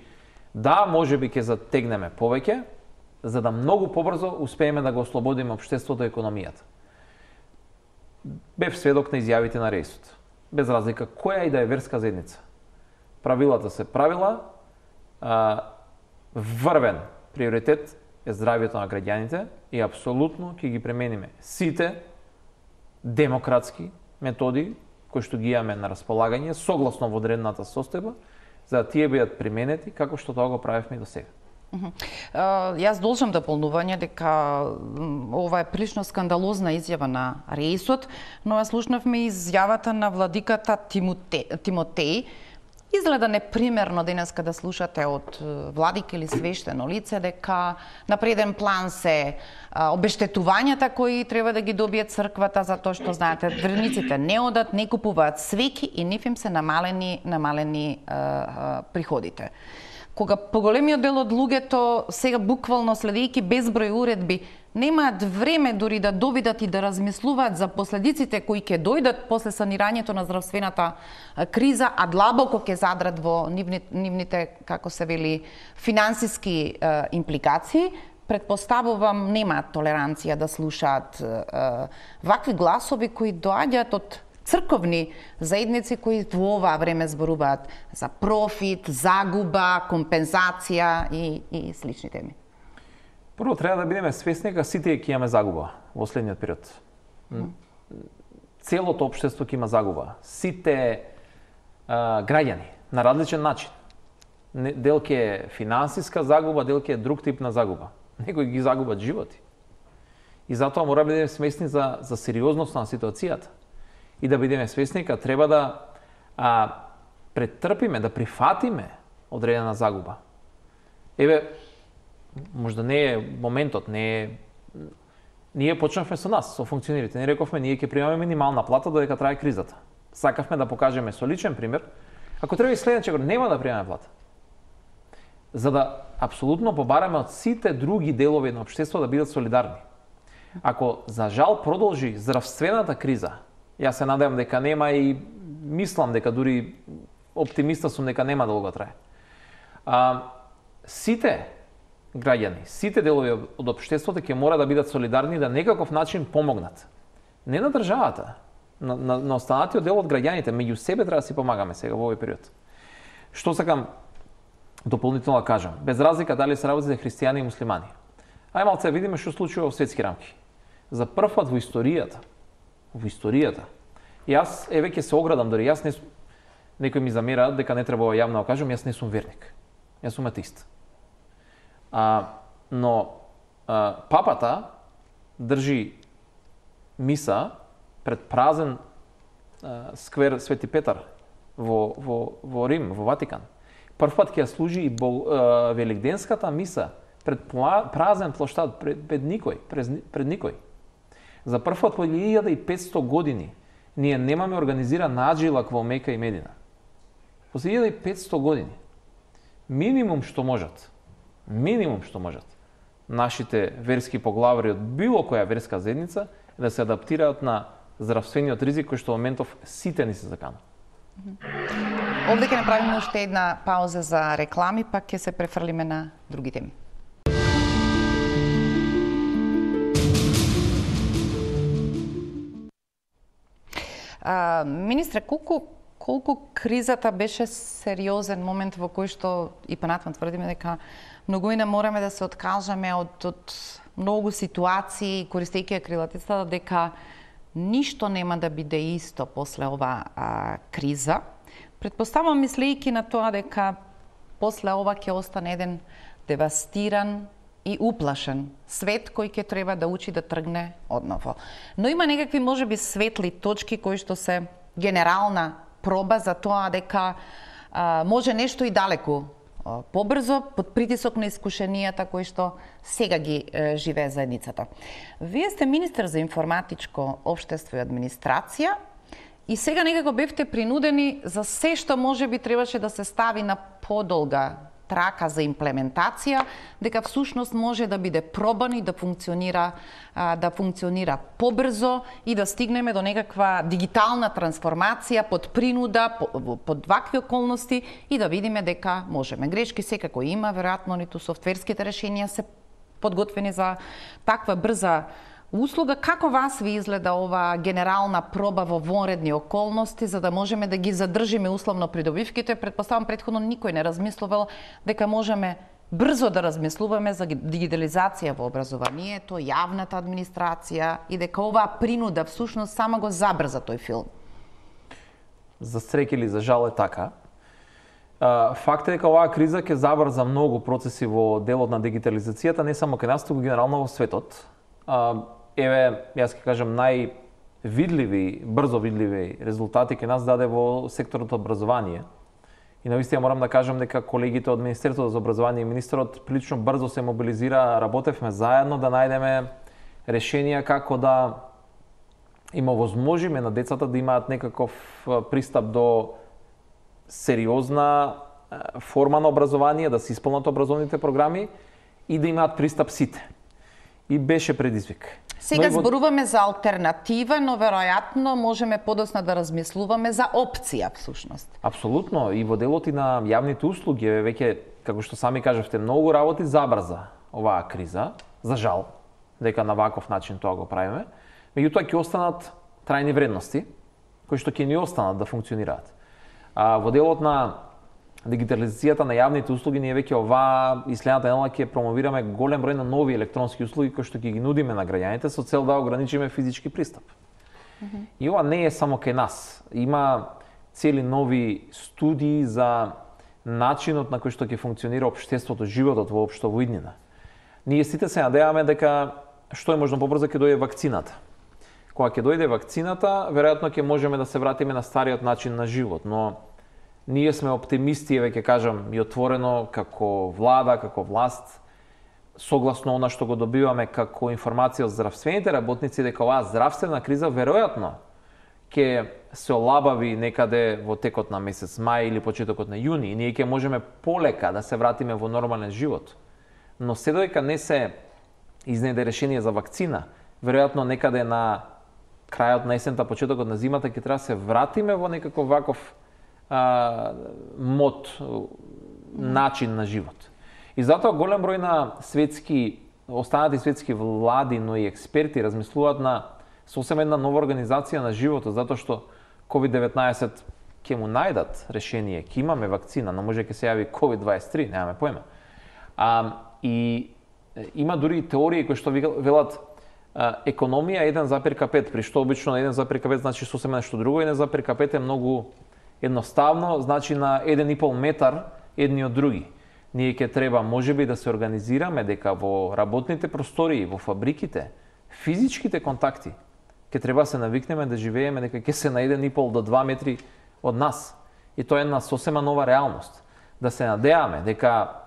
да, може би ќе затегнеме повеќе, за да многу побрзо успееме да го ослободиме општеството и економијата. Бев сведок на изјавите на Реисот. Без разлика која и да е верска заедница. Правилата се правила, а, врвен приоритет е здравјето на граѓаните и апсолутно ќе ги премениме сите демократски методи кои што ги имаме на располагање согласно во одредената состојба, за да тие бидат применети како што тоа го правевме и до сега. Uh, јас должам дополнување дека ова е прилично скандалозна изјава на Реисот, но ја слушнавме изјавата на владиката Тимоте, Тимотеј. Изгледа непримерно денеска да слушате од владик или свештено лице дека на преден план се а, обештетувањата кои треба да ги добие црквата за тоа што знаете верниците не одат, не купуваат свеки и нив им се намалени намалени а, а, приходите. Кога поголемиот дел од луѓето сега буквално следејќи безброј уредби немаат време дури да довидат и да размислуваат за последиците кои ќе дојдат после санирањето на здравствената криза, а длабоко ќе задрат во нивните, нивните како се вели, финансиски е, импликации, предпоставувам немаат толеранција да слушаат е, вакви гласови кои доаѓаат од црковни заедници кои во оваа време зборуваат за профит, загуба, компензација и, и слични теми. Прво треба да бидеме свесни дека сите ќе имаме загуба во следниот период. Mm. Целото општество ќе има загуба. Сите а, граѓани на различен начин. Дел ќе е финансиска загуба, дел ќе е друг тип на загуба. Некои ги загубат животи. И затоа мора да бидеме свесни за за сериозноста на ситуацијата. И да бидеме свесни дека треба да а, претрпиме, да прифатиме одредена загуба. Еве, можда не е моментот, не е... Ние почнавме со нас, со функционерите. Не рековме, ние ќе примаме минимална плата додека трае кризата. Сакавме да покажеме со личен пример. Ако треба и следниче, нема да примаме плата. За да апсолутно побараме од сите други делови на општество да бидат солидарни. Ако, за жал, продолжи здравствената криза, јас се надевам дека нема и мислам дека дури оптимиста сум дека нема да го трае. А, сите граѓани, сите делови од општеството ќе мора да бидат солидарни да некаков начин помогнат. Не на државата, на, на, на останатиот дел од граѓаните, меѓу себе треба да си помагаме сега во овој период. Што сакам дополнително да кажам, без разлика дали се работи за христијани и муслимани. Ај малце да видиме што случува во светски рамки. За прв пат во историјата, во историјата, јас еве ќе се оградам, дори јас не сум, некои ми замераат дека не треба јавно да кажам, јас не сум верник. Јас сум атеист. А, но а, папата држи миса пред празен а, сквер Свети Петар во, во, во Рим, во Ватикан. Прв пат ќе служи и бол, а, великденската миса пред празен плоштад, пред, пред никој, пред, пред никој. За прв пат по илјада и петсто години ние немаме организиран наджилак во Мека и Медина. По илјада и петсто години. Минимум што можат, минимум што можат, нашите верски поглавари од било која верска заедница е да се адаптираат на здравствениот ризик кој што во моментов сите ни се закана. Овде ќе направиме уште една пауза за реклами, пак ќе се префрлиме на други теми. А, министре, колку колку кризата беше сериозен момент во кој што и понатаму тврдиме дека многуина мораме да се откажаме од, од многу ситуации, користејќи крилатицата дека ништо нема да биде исто после ова а, криза. Предпоставам, мислејќи на тоа дека после ова ќе остане еден девастиран и уплашен свет кој ќе треба да учи да тргне одново. Но има некакви можеби светли точки кои што се генерална проба за тоа дека а, може нешто и далеку а, побрзо под притисок на искушенијата кои што сега ги е, живее заедницата. Вие сте министер за информатичко општество и администрација и сега некако бевте принудени за се што можеби требаше да се стави на подолга трака за имплементација, дека всушност може да биде пробан и да функционира да функционира побрзо и да стигнеме до некаква дигитална трансформација под принуда, под вакви околности и да видиме дека можеме. Грешки секако има, веројатно ниту софтверските решенија се подготвени за таква брза услуга. Како вас ви изгледа ова генерална проба во вонредни околности за да можеме да ги задржиме условно придобивките? Предпоставам претходно никој не размислувал дека можеме брзо да размислуваме за дигитализација во образованието, јавната администрација и дека оваа принуда всушност само го забрза тој филм. За среќа или за жал е така. Факт е дека оваа криза ќе забрза многу процеси во делот на дигитализацијата, не само кај нас, туку генерално во светот. Еве, јас ќе кажам, највидливи, брзо видливи резултати кај нас даде во секторот образование. И навистина морам да кажам дека колегите од Министерството за образование и министерот прилично брзо се мобилизира, работевме заедно да најдеме решенија како да им овозможиме на децата да имаат некаков пристап до сериозна форма на образование, да се исполнат образовните програми и да имаат пристап сите. И беше предизвик. Сега во... зборуваме за алтернатива, но веројатно можеме подоцна да размислуваме за опција всушност. Апсолутно, и во делот и на јавните услуги, веќе, како што сами кажавте, многу работи забрза оваа криза, за жал, дека на ваков начин тоа го правиме. Меѓутоа ќе останат трајни вредности, кои што ќе ни останат да функционираат. А во делот на дигитализацијата на јавните услуги, ние веќе оваа и следната недела ќе промовираме голем број на нови електронски услуги кои што ќе ги нудиме на граѓаните со цел да ограничиме физички пристап. Mm-hmm. И ова не е само кај нас. Има цели нови студии за начинот на кој што ќе функционира општеството, животот воопшто во иднина. Ние сите се надеваме дека што е можно побрзо ќе дојде вакцината. Кога ќе дојде вакцината, веројатно ќе можеме да се вратиме на стариот начин на живот, но ние сме оптимисти, еве ќе кажам и отворено, како влада, како власт, согласно она што го добиваме како информација од здравствените работници, дека оваа здравствена криза веројатно ќе се олабави некаде во текот на месец мај или почетокот на јуни и ние ќе можеме полека да се вратиме во нормален живот. Но се додека не се изнеде решение за вакцина, веројатно некаде на крајот на есента, почетокот на зимата ќе треба да се вратиме во некаков ваков а, мод, начин на живот. И затоа голем број на светски, останати светски влади, но и експерти размислуваат на сосем една нова организација на животот, затоа што ковид деветнаесет ќе му најдат решение, ќе имаме вакцина, но може ќе се јави ковид дваесет и три, немаме појма. А, и има дури теории кои што велат економија еден запирка пет, при што обично еден запирка пет значи сосем нешто друго, еден запирка пет е многу едноставно, значи на еден и пол метар едни од други. Ние ќе треба можеби да се организираме дека во работните простории, во фабриките, физичките контакти ќе треба се навикнеме да живееме дека ќе се на еден и пол до два метри од нас. И тоа е една сосема нова реалност. Да се надеаме дека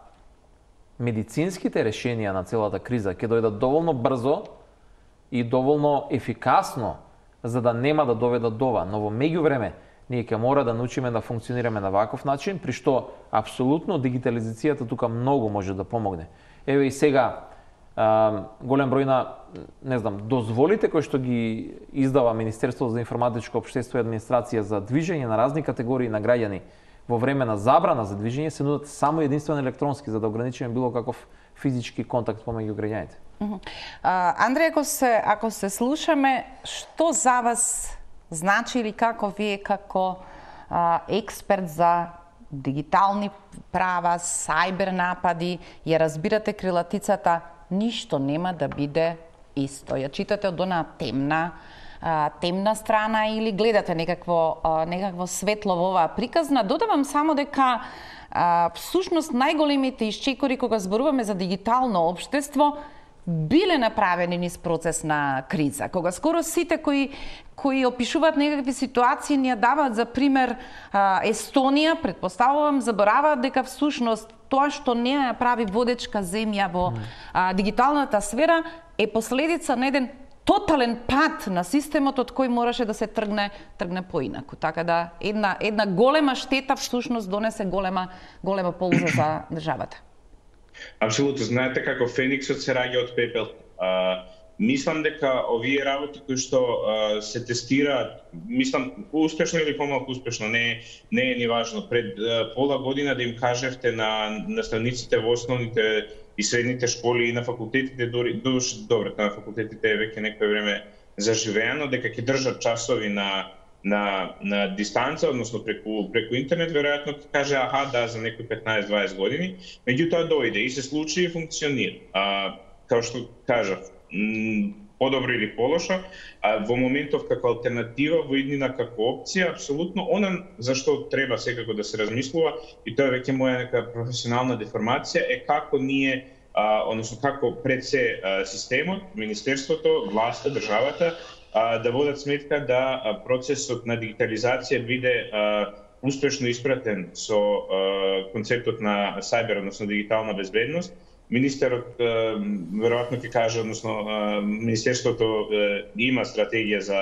медицинските решенија на целата криза ќе дојдат доволно брзо и доволно ефикасно за да нема да доведат до ова, но во меѓувреме ние ќе мора да научиме да функционираме на ваков начин, при што апсолутно дигитализацијата тука многу може да помогне. Еве и сега а, голем број на, не знам, дозволите кои што ги издава Министерството за информатичко општество и администрација за движење на разни категории на граѓани во време на забрана за движење се нудат само единствено електронски за да ограничиме било каков физички контакт помеѓу граѓаните. Uh-huh. uh, Андреј, ако се ако се слушаме, што за вас значи или како вие како а, експерт за дигитални права, сајбер напади, ја разбирате крилатицата ништо нема да биде исто. Ја читате од онаа темна а, темна страна или гледате некакво, а, некакво светло во оваа приказна. Додавам само дека а, всушност најголемите исчекори кога зборуваме за дигитално општество биле направени низ процес на криза. Кога скоро сите кои кои опишуваат некакви ситуации ни ја даваат за пример а, Естонија, предпоставувам, забораваат дека всушност тоа што не ја прави водечка земја во а, дигиталната сфера е последица на еден тотален пат на системот од кој мораше да се тргне тргне поинаку. Така да една една голема штета всушност донесе голема голема полза за државата. Апсолутно, знаете како фениксот се раѓа од пепел. А, мислам дека овие работи кои што а, се тестираат, мислам успешно или помалку успешно, не не е ни важно. Пред а, пола година да им кажевте на наставниците во основните и средните школи и на факултетите, дори душ, добро, на факултетите е веќе некој време заживеано, дека ќе држат часови на на на дистанца, односно преку преку интернет, веројатно ќе каже аха, да, за некои петнаесет дваесет години, меѓутоа дојде и се случи и функционира. А, као што кажав, подобро или полошо, а во моментов како алтернатива, во иднина како опција, апсолутно, она за што треба секако да се размислува, и тоа е веќе моја нека професионална деформација, е како ние, а, односно како пред се а, системот, министерството, власта, државата, а, да водат сметка да а, процесот на дигитализација биде а, успешно испратен со а, концептот на сајбер, односно дигитална безбедност. Министерот веројатно ќе каже, односно министерството има стратегија за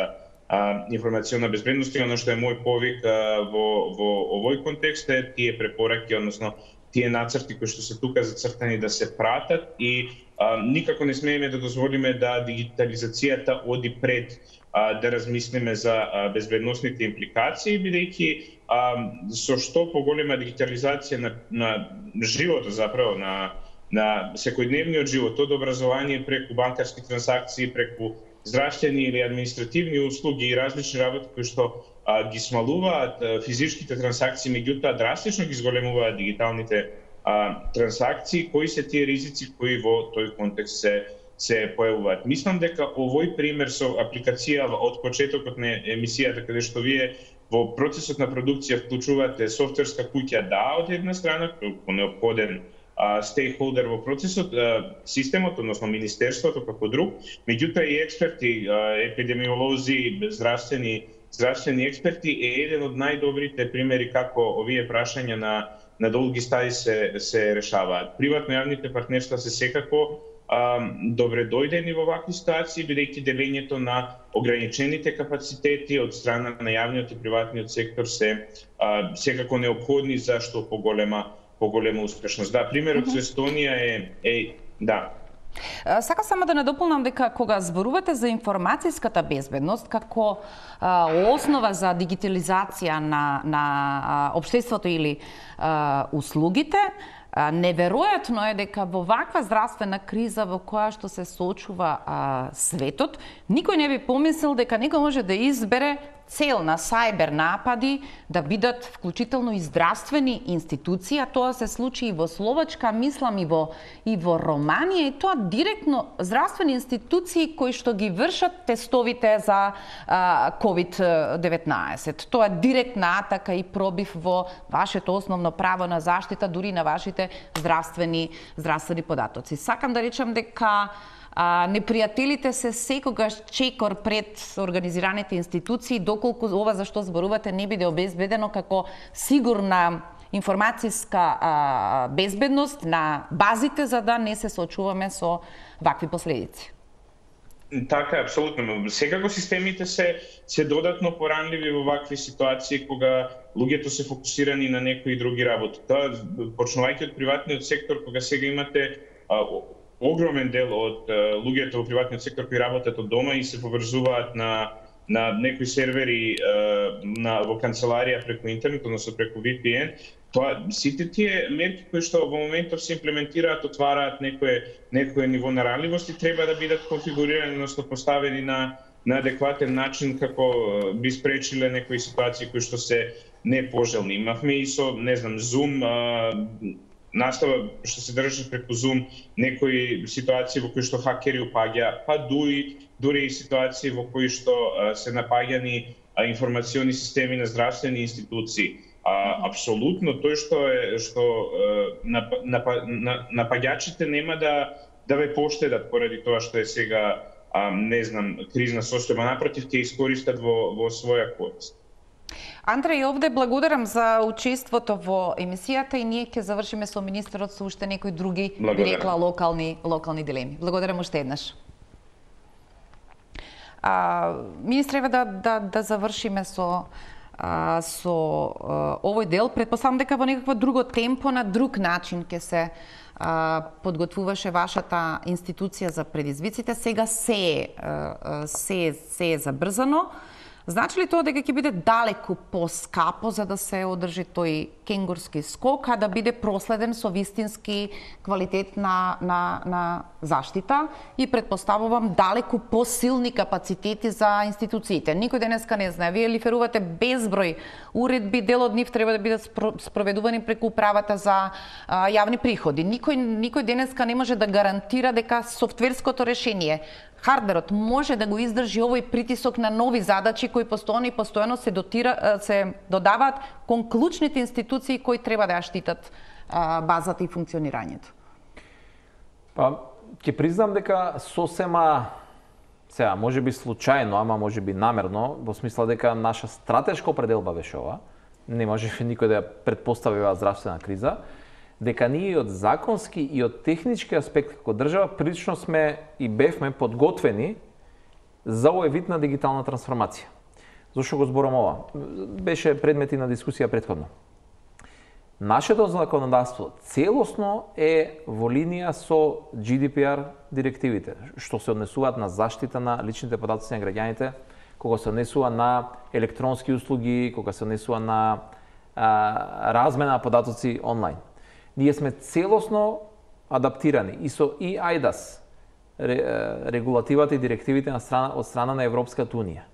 информационна безбедност, и оно што е мој повик во во овој контекст е тие препораки, односно тие нацрти кои што се тука зацртани да се пратат, и а, никако не смееме да дозволиме да дигитализацијата оди пред а, да размислиме за а, безбедносните импликации, бидејќи со што поголема дигитализација на, на животот, заправо на на секојдневниот живот, од образование преку банкарски трансакции, преку здравствени или административни услуги и различни работи кои што а, ги смалуваат а, физичките трансакции, меѓутоа драстично ги зголемуваат дигиталните а, трансакции, кои се тие ризици кои во тој контекст се се појавуваат. Мислам дека овој пример со апликација од почетокот на емисијата, каде што вие во процесот на продукција вклучувате софтверска куќа, да, од една страна, како неопходен стейкхолдер во процесот, системот, односно министерството како друг, меѓутоа и експерти, епидемиолози, здравствени здравствени експерти е еден од најдобрите примери како овие прашања на на долги стаи се се решаваат. Приватно-јавните партнерства се секако а, добре дојдени во вакви ситуации, бидејќи делењето на ограничените капацитети од страна на јавниот и приватниот сектор се а, секако неопходни за што поголема поголема успешност. Да, примерот со Естонија е, е да. Сакам само да надополнам дека кога зборувате за информацијската безбедност како а, основа за дигитализација на на а, општеството или а, услугите, а, неверојатно е дека во ваква здравствена криза во која што се соочува а, светот, никој не би помислил дека некој може да избере цел на сајбер напади да бидат вклучително и здравствени институции, а тоа се случи и во Словачка, мислам и во и во Романија, и тоа директно здравствени институции кои што ги вршат тестовите за ковид деветнаесет. Тоа е директна атака и пробив во вашето основно право на заштита, дури на вашите здравствени здравствени податоци. Сакам да речам дека А, непријателите се секогаш чекор пред организираните институции, доколку ова за што зборувате не биде обезбедено како сигурна информацијска а, безбедност на базите, за да не се соочуваме со вакви последици. Така, апсолутно. Секако системите се се додатно поранливи во вакви ситуации кога луѓето се фокусирани на некои други работи. Тоа почнувајќи од приватниот сектор, кога сега имате а, огромен дел од uh, луѓето во приватниот сектор кои работат од дома и се поврзуваат на на некои сервери uh, на во канцеларија преку интернет, односно преку ви пи ен, тоа сите тие мерки кои што во моментов се имплементираат, отвараат некое некое ниво на ранливост и треба да бидат конфигурирани, односно поставени на на адекватен начин како би спречиле некои ситуации кои што се непожелни. Имавме и со, не знам, Zoom, uh, настава што се држи преку Zoom, некои ситуации во кои што хакери упаѓа, па дури дури и ситуации во кои што а, се напаѓани а, информациони системи на здравствени институции. А, апсолутно тој што е што нап, нап, напаѓачите нема да да ве поштедат поради тоа што е сега а, не знам кризна состојба, напротив ќе искористат во во своја корист. Андреј, овде благодарам за учеството во емисијата и ние ќе завршиме со министерот со уште некои други, би рекла, локални локални дилеми. Благодарам уште еднаш. А, министре, еве да да да завршиме со а, со а, овој дел. Претпоставам дека во некакво друго темпо, на друг начин ќе се а, подготвуваше вашата институција за предизвиците. Сега се а, се се е забрзано. Значи ли тоа дека ќе биде далеку поскапо за да се одржи тој кенгурски скок, а да биде проследен со вистински квалитет на, на, на заштита и предпоставувам далеку посилни капацитети за институциите? Никој денеска не знае. Вие лиферувате безброј уредби, дел од нив треба да бидат спроведувани преку управата за а, јавни приходи. Никој, никој денеска не може да гарантира дека софтверското решение, хардверот може да го издржи овој притисок на нови задачи кои постојано и постојано се дотира, се додаваат кон клучните институции кои треба да ја штитат а, базата и функционирањето. Па, ќе признам дека сосема, сега, може би случајно, ама може би намерно, во смисла дека наша стратешка определба беше ова, не може никој да ја предпостави оваа здравствена криза, дека ние од законски и од технички аспект како држава прилично сме и бевме подготвени за овој вид на дигитална трансформација. Зошто го зборам ова? Беше предмети на дискусија претходно. Нашето законодавство целосно е во линија со Джи Ди Пи Ар директивите, што се однесуваат на заштита на личните податоци на граѓаните, кога се однесува на електронски услуги, кога се однесува на а, размена на податоци онлайн. Ние сме целосно адаптирани и со и ајдас, регулативата и директивите на страна, од страна на Европската Унија.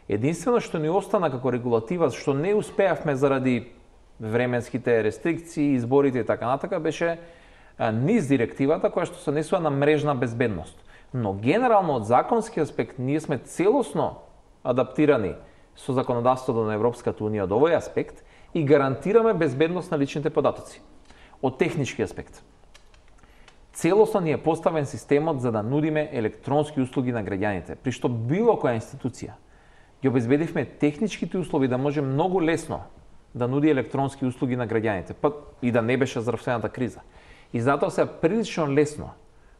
Единствено што ни остана како регулатива, што не успеавме заради временските рестрикции, изборите и така натака, беше низ директивата која што се однесува на мрежна безбедност. Но генерално од законски аспект ние сме целосно адаптирани со законодавството на Европската Унија од овој аспект и гарантираме безбедност на личните податоци. Од технички аспект. Целосно ни е поставен системот за да нудиме електронски услуги на граѓаните, при што било која институција ги обезбедивме техничките услови да може многу лесно да нуди електронски услуги на граѓаните, па и да не беше здравствената криза. И затоа се прилично лесно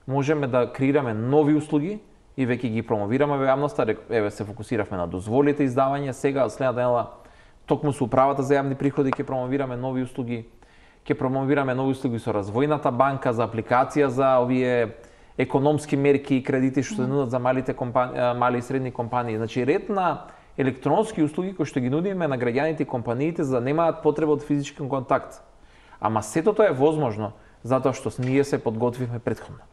можеме да креираме нови услуги и веќе ги промовираме во јавноста. Еве се фокусиравме на дозволите издавање, сега од следната недела токму со управата за јавни приходи ќе промовираме нови услуги. Ќе промовираме нови услуги со Развојната банка за апликација за овие економски мерки и кредити што се нудат за малите компании, мали и средни компании. Значи ред на електронски услуги кои што ги нудиме на граѓаните и компаниите за да немаат потреба од физички контакт. Ама сето тоа е возможно затоа што ние се подготвивме претходно.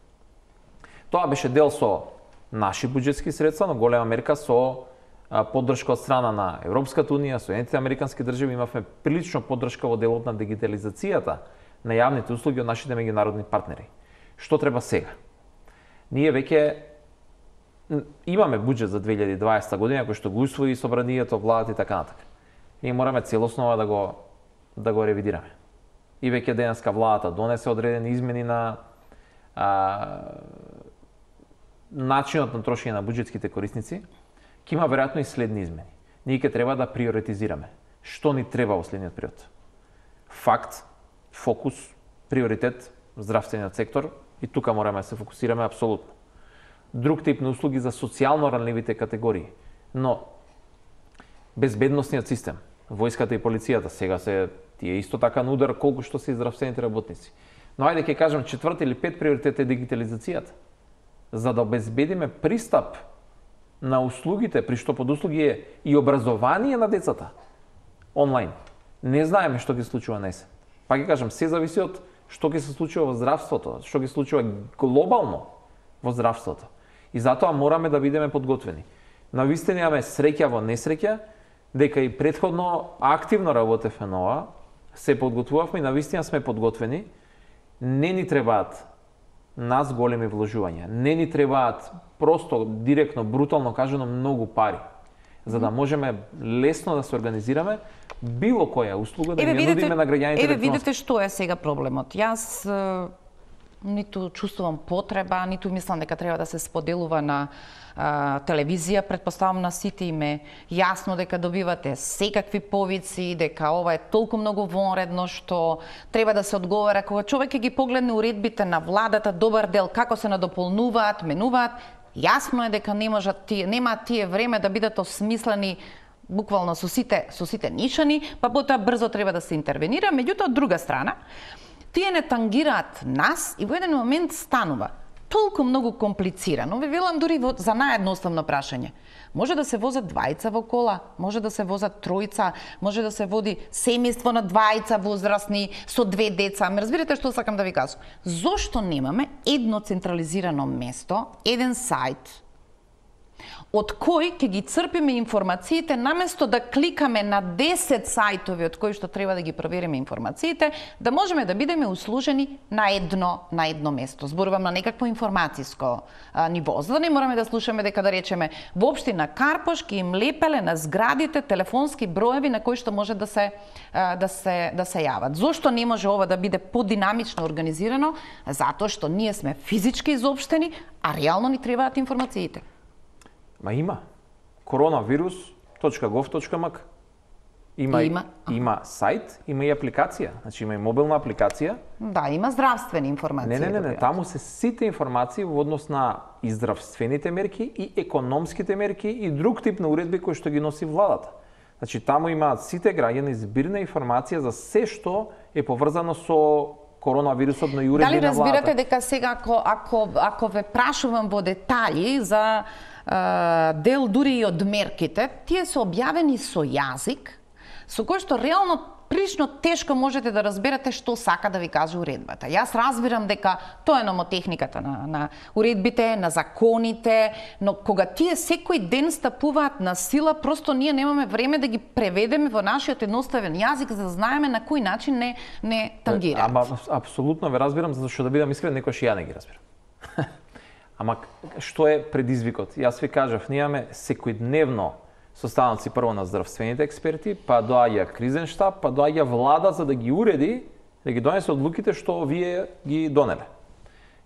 Тоа беше дел со наши буџетски средства, но голема мерка со поддршка од страна на Европската Унија, Соединетите американски држави, имавме прилично поддршка во делот на дигитализацијата на јавните услуги од нашите меѓународни партнери. Што треба сега? Ние веќе имаме буџет за две илјади и дваесета година кој што го усвои собранието, владата и така натака. Ние мораме целосно да го да го ревидираме. И веќе денеска владата донесе одредени измени на а, начинот на трошење на буџетските корисници. Ќе има веројатно и следни измени. Ние ќе треба да приоритизираме што ни треба во следниот период. Факт, фокус, приоритет, здравствениот сектор и тука мораме да се фокусираме апсолутно. Друг тип на услуги за социјално ранливите категории, но безбедносниот систем, војската и полицијата сега се тие исто така на удар колку што се и здравствените работници. Но ајде ќе кажам четврти или пет приоритет е дигитализацијата. За да обезбедиме пристап на услугите, при што под услуги е и образование на децата онлайн. Не знаеме што ќе случува на есен. Па ќе кажам, се зависи од што ќе се случува во здравството, што ќе се случува глобално во здравството. И затоа мораме да бидеме подготвени. Навистина имаме среќа во несреќа, дека и претходно активно работевме на ова, се подготвувавме и навистина сме подготвени Не ни требаат нас големи вложувања. Не ни требаат просто директно, брутално кажано, многу пари, за да можеме лесно да се организираме било која услуга да ги нудиме на граѓаните. Еве видите што е сега проблемот. Јас е, ниту чувствувам потреба, ниту мислам дека треба да се споделува на а, телевизија. Претпоставам на сите им е јасно дека добивате секакви повици, дека ова е толку многу вонредно што треба да се одговара. Кога човек ќе ги погледне уредбите на владата, добар дел како се надополнуваат, менуваат, јасно е дека не можат тие, немаат тие време да бидат осмислени буквално со сите со сите нишани, па потоа брзо треба да се интервенира. Меѓутоа, од друга страна, тие не тангираат нас и во еден момент станува толку многу комплицирано. Ви велам дури во, за наједноставно прашање. Може да се возат двајца во кола, може да се возат тројца, може да се води семејство на двајца возрастни со две деца. Ме разбирате што сакам да ви кажам? Зошто немаме едно централизирано место, еден сајт, од кој ќе ги црпиме информациите, наместо да кликаме на десет сајтови од кои што треба да ги провериме информациите, да можеме да бидеме услужени на едно на едно место. Зборувам на некакво информатиско а, ниво, за да не мораме да слушаме дека да речеме во општина Карпош ќе им лепеле на зградите телефонски броеви на кои што може да се а, да се да се јават. Зошто не може ова да биде подинамично организирано? Затоа што ние сме физички изопштени, а реално ни требаат информациите. Ма има. коронавирус точка гов точка мк. Има, има. има сајт, има и апликација. Значи има и мобилна апликација. Да, има здравствени информации. Не, не, не, не, таму се сите информации во однос на и здравствените мерки, и економските мерки, и друг тип на уредби кои што ги носи владата. Значи таму имаат сите граѓани збирна информација за се што е поврзано со коронавирусот, но и уредби на владата. Дали разбирате дека сега ако ако ако ве прашувам во детали за дел дури и од мерките, тие се објавени со јазик, со кој што реално прилично тешко можете да разберете што сака да ви каже уредбата. Јас разбирам дека тоа е номотехниката на, на уредбите, на законите, но кога тие секој ден стапуваат на сила, просто ние немаме време да ги преведеме во нашиот едноставен јазик, за да знаеме на кој начин не, не тангираат. Ама апсолутно ве разбирам, затоа што да бидам искрен, некојаш и ја не ги разбирам. Ама што е предизвикот? Јас ви кажав, ние имаме секојдневно состаноци прво на здравствените експерти, па доаѓа кризен штаб, па доаѓа влада за да ги уреди, да ги донесе одлуките што вие ги донеле.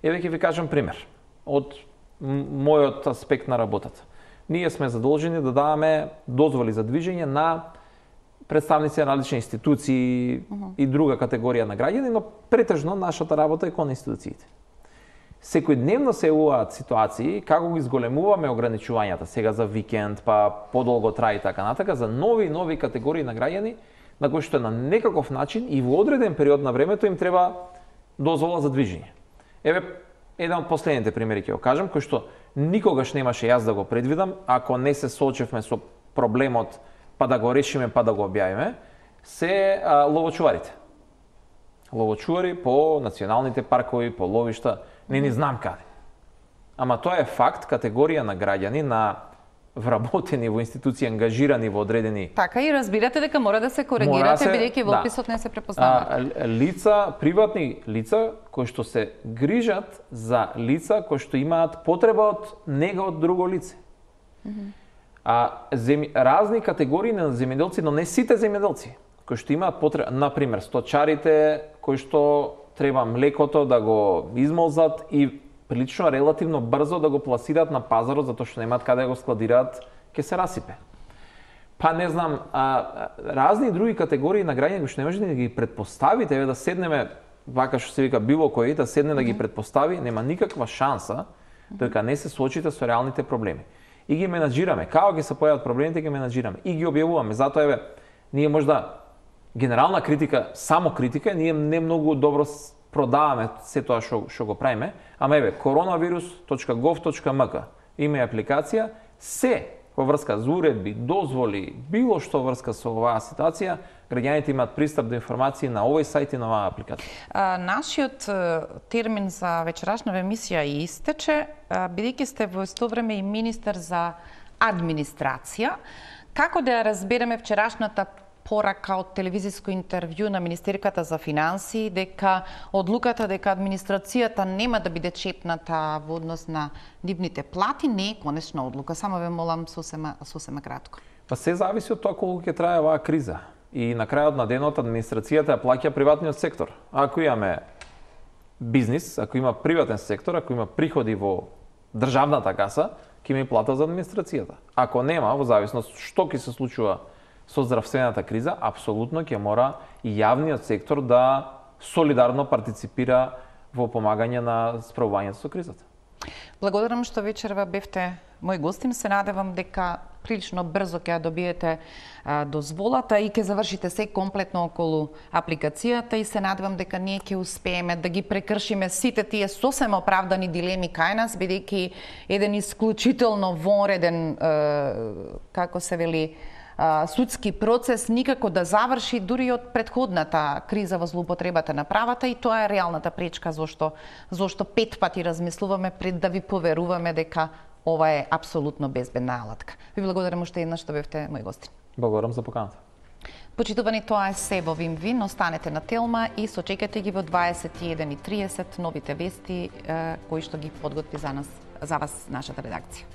Еве ќе ви кажам пример од мојот аспект на работата. Ние сме задолжени да даваме дозволи за движење на представници на различни институции uh -huh. и друга категорија на граѓани, но претежно нашата работа е кон институциите. Секојдневно се јавуваат ситуации како ги зголемуваме ограничувањата сега за викенд, па подолго трае и така натака, за нови и нови категории на граѓани на кои што на некаков начин и во одреден период на времето им треба дозвола за движење. Еве еден од последните примери ќе го кажам, кој што никогаш немаше јас да го предвидам, ако не се соочевме со проблемот па да го решиме, па да го објавиме, се а, ловочуварите. Ловочувари по националните паркови, по ловишта, не ни знам каде. Ама тоа е факт, категорија на граѓани, на вработени во институции, ангажирани во одредени... Така и разбирате дека мора да се коригирате, бидејќи во описот да. не се препознаваат. Лица, приватни лица, кои што се грижат за лица кои што имаат потреба од нега од друго лице. Mm -hmm. А, зем... разни категории на земјоделци, но не сите земјоделци, кои што имаат потреба, например, сточарите, кои што треба млекото да го измолзат и прилично релативно брзо да го пласираат на пазарот затоа што немаат каде да го складираат, ќе се расипе. Па не знам, а, разни други категории на граѓани кои што не можете да ги предпоставите, еве да седнеме вака што се вика било кој да седне да ги предпостави, нема никаква шанса дека не се соочите со реалните проблеми. И ги менаџираме, како ги се појават проблемите, ги менаџираме и ги објавуваме. Затоа еве ние можда генерална критика, само критика, ние не многу добро продаваме се тоа што што го правиме, ама еве коронавирус точка гов точка мк има и апликација, се во врска за уредби, дозволи, било што врска со оваа ситуација, граѓаните имаат пристап до информации на овој сајт и на оваа апликација. А, нашиот термин за вечерашна емисија и истече, бидејќи сте во исто време и министер за администрација, како да ја разбереме вчерашната порака од телевизиско интервју на министерката за финансии дека одлуката дека администрацијата нема да биде чепната во однос на нивните плати не е конечна одлука. Само ве молам сосема сосема кратко. Па се зависи од тоа колку ќе трае оваа криза. И на крајот на денот администрацијата ја плаќа приватниот сектор. Ако имаме бизнис, ако има приватен сектор, ако има приходи во државната каса, ќе има и плата за администрацијата. Ако нема, во зависност што ќе се случува со здравствената криза, апсолутно ќе мора и јавниот сектор да солидарно партиципира во помагање на справувањето со кризата. Благодарам што вечерва бевте мој гостин. Се надевам дека прилично брзо ќе ја добиете а, дозволата и ќе завршите се комплетно околу апликацијата и се надевам дека ние ќе успееме да ги прекршиме сите тие сосема оправдани дилеми кај нас, бидејќи еден исклучително вонреден, е, како се вели, судски процес никако да заврши дури од предходната криза во злоупотребата на правата и тоа е реалната пречка зошто зошто пет пати размислуваме пред да ви поверуваме дека ова е апсолутно безбедна алатка. Ви благодарам уште еднаш што бевте мој гостин. Благодарам за поканата. Почитувани, тоа е се во Вим Вин. Останете на Телма и сочекате ги во дваесет и еден и триесет новите вести кои што ги подготви за нас, за вас нашата редакција.